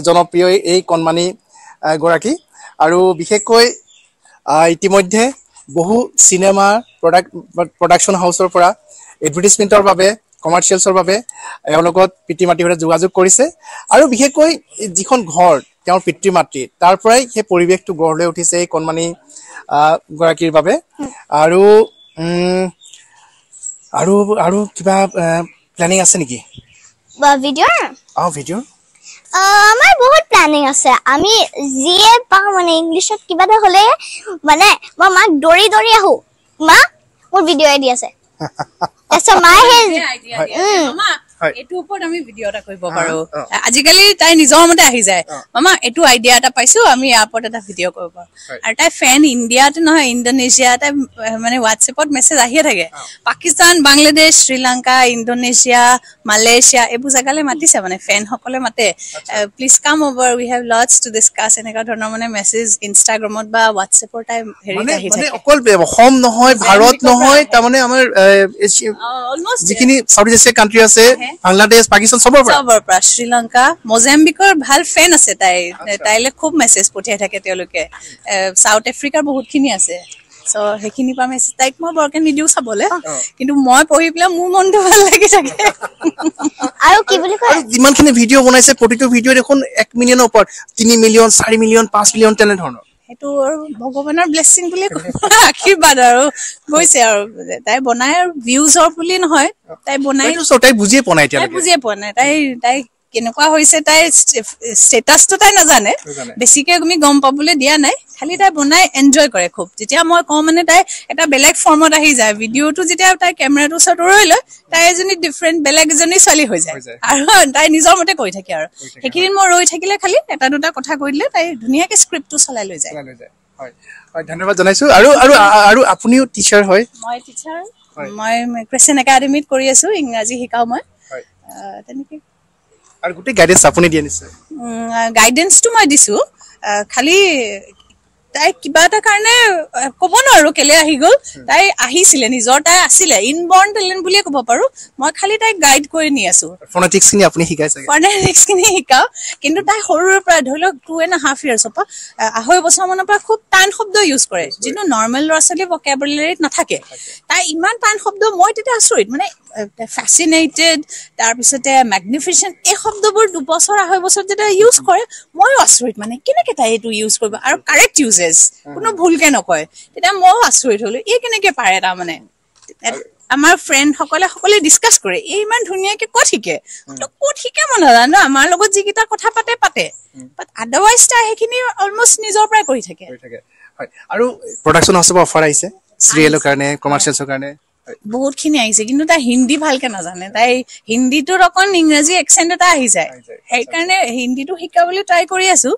[SPEAKER 1] জনপ্ৰিয় এই কণমানি গৰাকী। আৰু বিশেষকৈ ইতিমধ্যে বহু চিনেমা প্ৰডাকশ্যন হাউচৰ পৰা এডভাৰটাইজমেণ্টৰ বাবে, কমাৰ্চিয়েলছৰ বাবে এওঁলোকত পিতৃ মাতৃৰ সৈতে যোগাযোগ কৰিছে। আৰু বিশেষকৈ যিখন ঘৰ তেওঁৰ পিতৃ মাতৃ, তাৰ পৰাই সেই পৰিৱেশটো গঢ় লৈ উঠিছে এই কণমানি গৰাকীৰ বাবে। আৰু আৰু আৰু কিবা প্লেনিং আছে নেকি
[SPEAKER 2] ভিডিঅ'ৰ?
[SPEAKER 1] অঁ, ভিডিঅ'ৰ
[SPEAKER 2] আমাৰ বহুত প্লেনিং আছে। আমি যিয়ে পাওঁ মানে ইংলিছত কিবা এটা হ'লে মানে মই মাক দৌৰি দৌৰি আহো, মা মোৰ ভিডিঅ' আইডি আছে। তাৰপিছত মায়ে সেই
[SPEAKER 3] এইটোৰ ওপৰত আমি ভিডিঅ' এটা কৰিব পাৰো। আজিকালি তাই নিজৰ মতে আহি যায়, মামা এইটো আইডিয়া এটা পাইছো, আমি ইয়াৰ ওপৰত এটা ভিডিঅ' কৰিব পাৰো। আৰু তাই ফেন ইণ্ডিয়াতে নহয়, ইণ্ডোনেছিয়া, তাই মানে হোৱাটছএপত মেছেজ আহিয়ে থাকে। পাকিস্তান, বাংলাদেশ, শ্ৰীলংকা, ইণ্ডোনেছিয়া, মালয়েছিয়া এইবোৰ জেগালৈ মাতিছে, মানে ফেনসকলে মাতে, please come over, we have lots to discuss, এনেকুৱা ধৰণৰ মানে মেছেজ ইনষ্টাগ্ৰামত বা হোৱাটছএপৰ তাই হেৰিত আহি থাকে।
[SPEAKER 1] অকল অসম নহয়, ভাৰত নহয়, তাৰমানে আমাৰ যিখিনি চাউথ এছিয়া কাণ্ট্ৰি আছে, বাংলাদেশ, পাকিস্তান, চবৰ
[SPEAKER 3] পৰা, শ্ৰীলংকা, মজাম্বিকৰ ভাল ফেন আছে তাই, তাইলে খুব মেছেজ পঠিয়াই থাকে তেওঁলোকে। চাউথ আফ্ৰিকাৰ বহুতখিনি আছে। চ' সেইখিনিৰ পৰা মেছেজ তাইক মই বৰকে নিদিওঁ চাবলে, কিন্তু মই পঢ়ি পেলাই মোৰ মনটো ভাল লাগি থাকে।
[SPEAKER 2] আৰু কি বুলি কয়,
[SPEAKER 1] যিমানখিনি ভিডিঅ' বনাইছে প্ৰতিটো ভিডিঅ' দেখোন 1 মিলিয়নৰ ওপৰত, 3 মিলিয়ন, 4 মিলিয়ন, 5 মিলিয়ন তেনেধৰণৰ।
[SPEAKER 3] সেইটো আৰু ভগৱানৰ ব্লেছিং বুলি আশীৰ্বাদ আৰু গৈছে। আৰু তাই বনাই আৰু ভিউজৰ বুলি নহয়, তাই বনাই,
[SPEAKER 1] তাই বুজিয়ে পোৱা নাই,
[SPEAKER 3] তাই বুজিয়ে পোৱা নাই, তাই তাই কেনেকুৱা হৈছে তাইৰ ষ্টেটাছটো তাই নাজানে, বেছিকে আমি গম পাবলৈ দিয়া নাই। খালি তাই বনাই এনজয় কৰে খুব। যেতিয়া মই কওঁ মানে তাই এটা বেলেগ ফৰ্মত আহি যায়। ভিডিঅ'টো যেতিয়া তাই কেমেৰাটোৰ ওচৰত ৰৈ লয়, তাই এজনী ডিফাৰেণ্ট বেলেগ এজনী ছোৱালী হৈ যায় আৰু তাই নিজৰ মতে কৰি থাকে। আৰু সেইখিনিত মই ৰৈ থাকিলে খালি এটা দুটা কথা কৈ দিলে তাই ধুনীয়াকে স্ক্ৰিপ্টটো চলাই লৈ যায়।
[SPEAKER 1] ধন্যবাদ জনাইছো। আৰু আৰু আৰু আপুনিও টিচাৰ হয়?
[SPEAKER 3] মই টিচাৰ, মই ক্ৰিশ্চিয়ান একাডেমীত কৰি আছো, ইংৰাজী শিকাওঁ মই তেনেকে।
[SPEAKER 1] আৰু গোটেই গাইডেন্স আপুনি দিয়ে নিশ্চয়?
[SPEAKER 3] গাইডেন্সটো মই দিছো, খালি তাই কিবা এটা কাৰণে ক'ব নোৱাৰো কেলে আহি গ'ল। তাই আহিছিলে নিজৰ, তাই আছিলে ইনবৰ্ণ টেলেণ্ট বুলিয়ে ক'ব পাৰো। মই খালি তাইক গাইড কৰি নি আছো।
[SPEAKER 1] ফনেটিক্সখিনি আপুনি শিকাইছে?
[SPEAKER 3] ফনেটিক্সখিনি শিকাওঁ, কিন্তু তাই সৰুৰে পৰা ধৰি লওক 2.5 ইয়াৰ্ছৰ পৰা 2.5 বছৰমানৰ পৰা খুব টান শব্দ ইউজ কৰে, যিটো নৰ্মেল ল'ৰা ছোৱালীৰ ভকেবুলাৰীত নাথাকে। তাই ইমান টান শব্দ, মই তেতিয়া আচৰিত, মানে ফেচিনেটেড, তাৰপিছতে মেগনিফিচেণ্ট, এই শব্দবোৰ 2 বছৰ 2.5 বছৰ যেতিয়া ইউজ কৰে ময়ো আচৰিত, মানে কেনেকে তাই এইটো ইউজ কৰিব আৰু কাৰেক্ট ইউজেছ, কোনো ভুলকে নকয়। তেতিয়া ময়ো আচৰিত হলো, এই কেনেকে পাৰে। তাৰমানে আমাৰ ফ্ৰেণ্ডসকলে সকলোৱে ডিছকাছ কৰে, এই ইমান ধুনীয়াকে ক'ত শিকে, ক'ত শিকে মই নাজানো। আমাৰ লগত যিকেইটা কথা পাতে পাতে, বাট আদাৰৱাইজ তাই সেইখিনি অলমষ্ট নিজৰ পৰাই কৰি থাকে।
[SPEAKER 1] আৰু প্ৰডাকশ্যন হাউচৰ পৰা অফাৰ আহিছে চিৰিয়েলৰ কাৰণে, কমাৰ্চিয়েলছৰ কাৰণে?
[SPEAKER 3] বহুতখিনি আহিছে, কিন্তু তাই হিন্দী ভালকে নাজানে। তাই হিন্দীটোত অকণ ইংৰাজী একচেণ্ট এটা আহি যায়, সেইকাৰণে হিন্দীটো শিকাবলৈ ট্ৰাই কৰি আছো।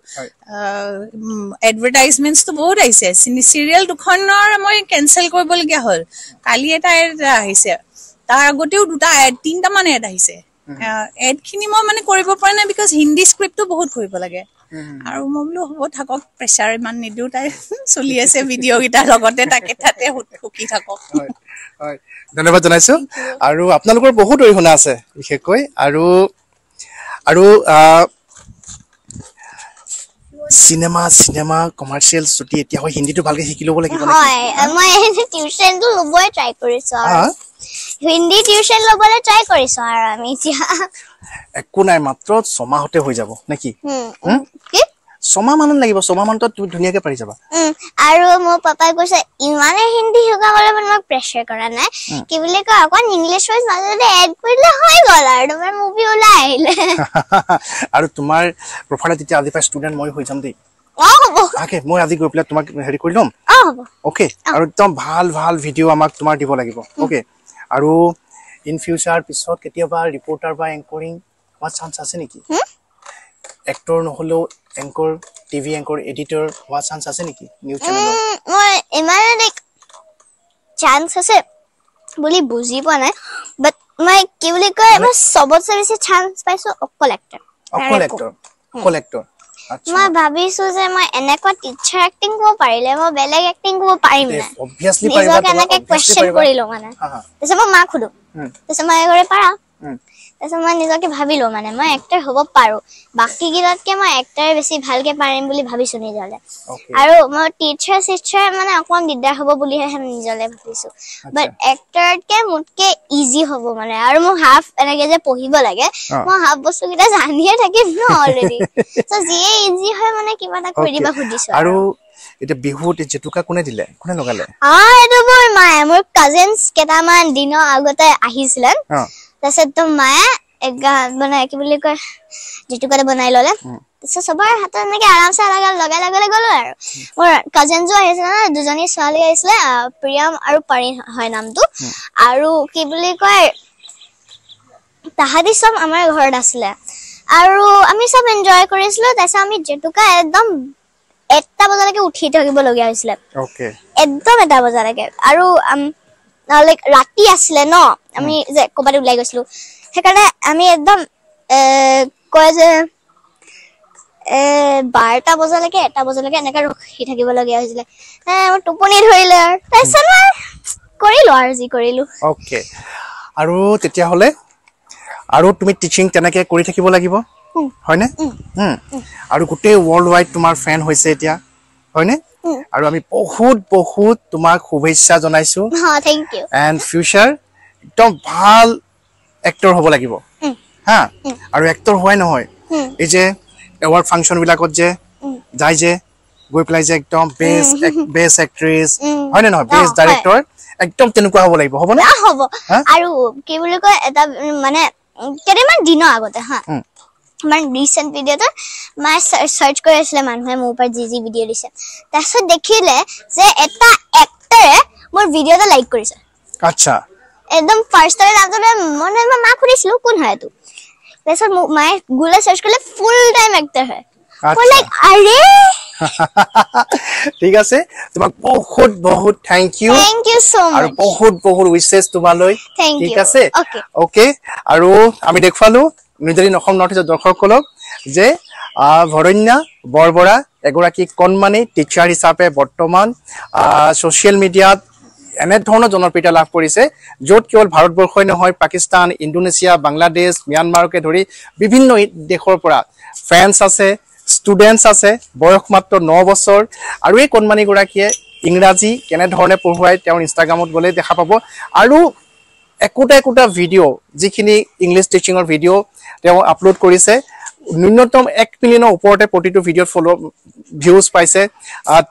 [SPEAKER 3] এডভাৰটাইজমেণ্টছটো বহুত আহিছে, চিৰিয়েল দুখনৰ মই কেঞ্চেল কৰিবলগীয়া হ'ল। কালি এটা এড আহিছে, তাৰ আগতেও 2টা এড, 3টামান এড আহিছে। এডখিনি মই মানে কৰিব পৰা নাই, because Hindi স্ক্ৰিপ্টটো বহুত কৰিব লাগে। আৰু মই বোলো হ'ব থাকক, প্ৰেছাৰ ইমান নিদিওঁ, তাই চলি আছে ভিডিঅ' কেইটাৰ লগতে, তাকে তাতে সুখী থাকক।
[SPEAKER 1] হয়, ধন্যবাদ জনাইছো। আৰু আপোনালোকৰ বহুত অৰিহণা আছে বিশেষকৈ। আৰু আৰু চিনেমা চিনেমা কমাৰ্চিয়েল যদি এতিয়া হয়, হিন্দীটো ভালকে শিকি ল'ব লাগিব।
[SPEAKER 2] হয়, মই টিউচনটো ল'বই ট্ৰাই কৰিছো, আৰু হিন্দী টিউচন ল'বলৈ ট্ৰাই কৰিছো। আৰু আমি এতিয়া
[SPEAKER 1] একো নাই, মাত্ৰ 6 মাহতে হৈ যাব নেকি? 6 মাহ মানত লাগিব, 6 মাহ মানত তুমি ধুনীয়াকে পাৰি যাবা।
[SPEAKER 2] আৰু মোৰ পাপাই কৈছে ইমানে হিন্দী শিকাবলৈ মানে মোক প্ৰেছাৰ কৰা নাই, কি বুলি কয়, অকণ ইংলিছ ৱৰ্ড মাজতে এড কৰিলে হৈ গ'ল আৰু তোমাৰ মুভি ওলাই আহিলে।
[SPEAKER 1] আৰু তোমাৰ প্ৰফাইলত তেতিয়া আজি পৰা ষ্টুডেণ্ট মই হৈ যাম দেই। অ'কে, মই আজি গৈ পেলাই তোমাক হেৰি কৰি ল'ম। অ'কে, আৰু একদম ভাল ভাল ভিডিঅ' আমাক তোমাৰ দিব লাগিব। অ'কে, আৰু ইন ফিউচাৰ পিছত কেতিয়াবা ৰিপৰ্টাৰ বা এংকৰিং হোৱাৰ চান্স আছে নেকি? এক্টৰ নহ'লেও এংকৰ, টিভি এংকৰ, এডিটৰ হোৱাৰ চান্স আছে নেকি নিউজ চেনেলত?
[SPEAKER 2] মই ইমান লাইক চান্স আছে বুলি বুজি পোৱা নাই, বাট মই কি বুলি কয়, মই চবতছে বেছি চান্স পাইছো অকল এক্টৰ।
[SPEAKER 1] অকল এক্টৰ, অকল এক্টৰ।
[SPEAKER 2] মই ভাবিছো যে মই এনেকুৱা টিচাৰ এক্টিং কৰিব পাৰিলে মই বেলেগ এক্টিং কৰিব পাৰিম নাই?
[SPEAKER 1] অবভিয়াছলি পাৰিবা।
[SPEAKER 2] নিজকে এনেকে কুৱেশ্যন কৰিলো মানে, তাৰপিছত মই মাক সুধো, তাৰপিছত মায়ে কৰে পাৰা। তাৰপিছত মই নিজকে ভাবিলো মানে মই এক্টৰ হ'ব পাৰো, বাকী কেইটাতকে মই এক্টৰ বেছি ভালকে পাৰিম বুলি ভাবিছো নিজলে। আৰু মই টিচাৰ চিচাৰ মানে অকমান দিগদাৰ হ'ব বুলিহে নিজলে ভাবিছো, বাট এক্টৰতকে মোতকে ইজি হ'ব মানে। আৰু মোৰ হাফ এনেকে যে পঢ়িব লাগে, মই হাফ বস্তু কেইটা জানিয়ে থাকিম ন অলৰেডি। চ' যিয়ে ইজি হয় মানে কিবা এটা কৰি দিবা সুধিছো।
[SPEAKER 1] আৰু এতিয়া বিহুত জেতুকা কোনে দিলে, কোনে লগালে?
[SPEAKER 2] এইটো মোৰ মায়ে, মোৰ কাজিনছ কেইটামান দিনৰ আগতে আহিছিলে, তাৰপিছত তো মায়ে মানে কি বুলি কয় জেতুকাটো বনাই ললে। তাৰপিছত চবৰে হাতত এনেকে আৰামছে লগাই লগাই লগাই গলো। আৰু মোৰ কাজিনছো আহিছিলে ন, দুজনী ছোৱালী আহিছিলে, প্ৰিয়ম আৰু পাৰি হয় নামটো। আৰু কি বুলি কয় তাহাঁতি চব আমাৰ ঘৰত আছিলে আৰু আমি চব এনজয় কৰিছিলো। তাৰপিছত আমি জেতুকা একদম 1টা বজালৈকে উঠি থাকিবলগীয়া হৈছিলে, একদম 1টা বজালৈকে। আৰু লাইক ৰাতি আছিলে ন, আমি যে ক'ৰবাত ওলাই গৈছিলো, সেইকাৰণে আমি একদম কয় যে 12টা বজালৈকে 1টা বজালৈকে এনেকে ৰখি থাকিবলগীয়া হৈছিলে। মোৰ টোপনি ধৰিলে আৰু তাৰপিছত মই কৰিলো আৰু যি কৰিলো।
[SPEAKER 1] অ'কে, আৰু তেতিয়াহ'লে আৰু তুমি টিচিং তেনেকে কৰি থাকিব লাগিব, হয়নে? আৰু গোটেই ৱৰ্ল্ড ৱাইড তোমাৰ ফেন হৈছে এতিয়া, হয়নে? আৰু আমি বহুত বহুত তোমাক শুভেচ্ছা জনাইছো।
[SPEAKER 2] Thank U.
[SPEAKER 1] And future একদম ভাল এক্টৰ হ'ব লাগিব। হা, আৰু এক্টৰ হোৱাই নহয়, এই যে এৱাৰ্ড ফাংচন বিলাকত যে যায়, যে গৈ পেলাই যে একদম বেষ্ট বেষ্ট এক্ট্ৰেছ, হয়নে নহয়, বেষ্ট ডাইৰেক্টৰ, একদম তেনেকুৱা হ'ব লাগিব, হ'বনে?
[SPEAKER 2] হ'ব। আৰু কি বুলি কয় এটা মানে কেইটামান দিনৰ আগতে, হা, আমাৰ ৰিচেণ্ট ভিডিঅ'টোত মায়ে চাৰ্চ কৰি আছিলে মানুহে মোৰ ওপৰত যি যি ভিডিঅ' দিছে, তাৰপিছত দেখিলে যে এটা এক্টৰে মোৰ ভিডিঅ' এটা লাইক কৰিছে। একদম ফাৰ্ষ্টতে নামটো মই মাক সুধিছিলো কোন হয় এইটো। তাৰপিছত মোক মায়ে গুগলত চাৰ্চ কৰিলে, ফুল টাইম এক্টৰ হয়। মই লাইক আৰে।
[SPEAKER 1] ঠিক আছে, তোমাক বহুত বহুত thank U.
[SPEAKER 2] Thank you so
[SPEAKER 1] আৰু
[SPEAKER 2] মাচ।
[SPEAKER 1] বহুত বহুত উইচেছ তোমালৈ।
[SPEAKER 2] Thank
[SPEAKER 1] ঠিক
[SPEAKER 2] ইউ।
[SPEAKER 1] আছে।
[SPEAKER 2] অ'কে।
[SPEAKER 1] অ'কে, আৰু আমি দেখুৱালো নিউজ এইটিন অসম নৰ্থ ইষ্টৰ দৰ্শকসকলক যে ভৰণ্যা বৰবৰা এগৰাকী কণমানি টিচাৰ হিচাপে বৰ্তমান ছ'চিয়েল মিডিয়াত এনেধৰণৰ জনপ্ৰিয়তা লাভ কৰিছে, য'ত কেৱল ভাৰতবৰ্ষই নহয়, পাকিস্তান, ইণ্ডোনেছিয়া, বাংলাদেশ, ম্যানমাৰকে ধৰি বিভিন্ন দেশৰ পৰা ফেন্স আছে, ষ্টুডেণ্টছ আছে। বয়স মাত্ৰ 9 বছৰ। আৰু এই কণমানিগৰাকীয়ে ইংৰাজী কেনেধৰণে পঢ়ুৱাই তেওঁৰ ইনষ্টাগ্ৰামত গ'লে দেখা পাব। আৰু একোটা একোটা ভিডিঅ', যিখিনি ইংলিছ টিচিঙৰ ভিডিঅ' তেওঁ আপলোড কৰিছে, ন্যূনতম 1 মিলিয়নৰ ওপৰতে প্ৰতিটো ভিডিঅ'ত ফ'ল' ভিউজ পাইছে,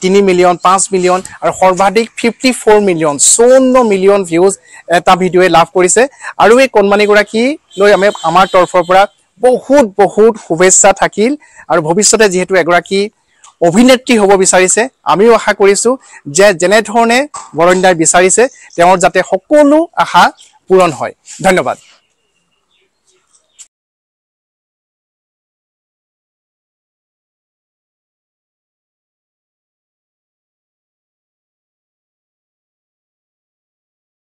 [SPEAKER 1] 3 মিলিয়ন, 5 মিলিয়ন আৰু সৰ্বাধিক 54 মিলিয়ন, 54 মিলিয়ন ভিউজ এটা ভিডিঅ'য়ে লাভ কৰিছে। আৰু এই কণমানিগৰাকীলৈ আমি আমাৰ তৰফৰ পৰা বহুত বহুত শুভেচ্ছা থাকিল। আৰু ভৱিষ্যতে যিহেতু এগৰাকী অভিনেত্ৰী হ'ব বিচাৰিছে, আমিও আশা কৰিছোঁ যে যেনেধৰণে বৰণ্যাই বিচাৰিছে, তেওঁৰ যাতে সকলো আশা পূৰণ হয়। ধন্যবাদ।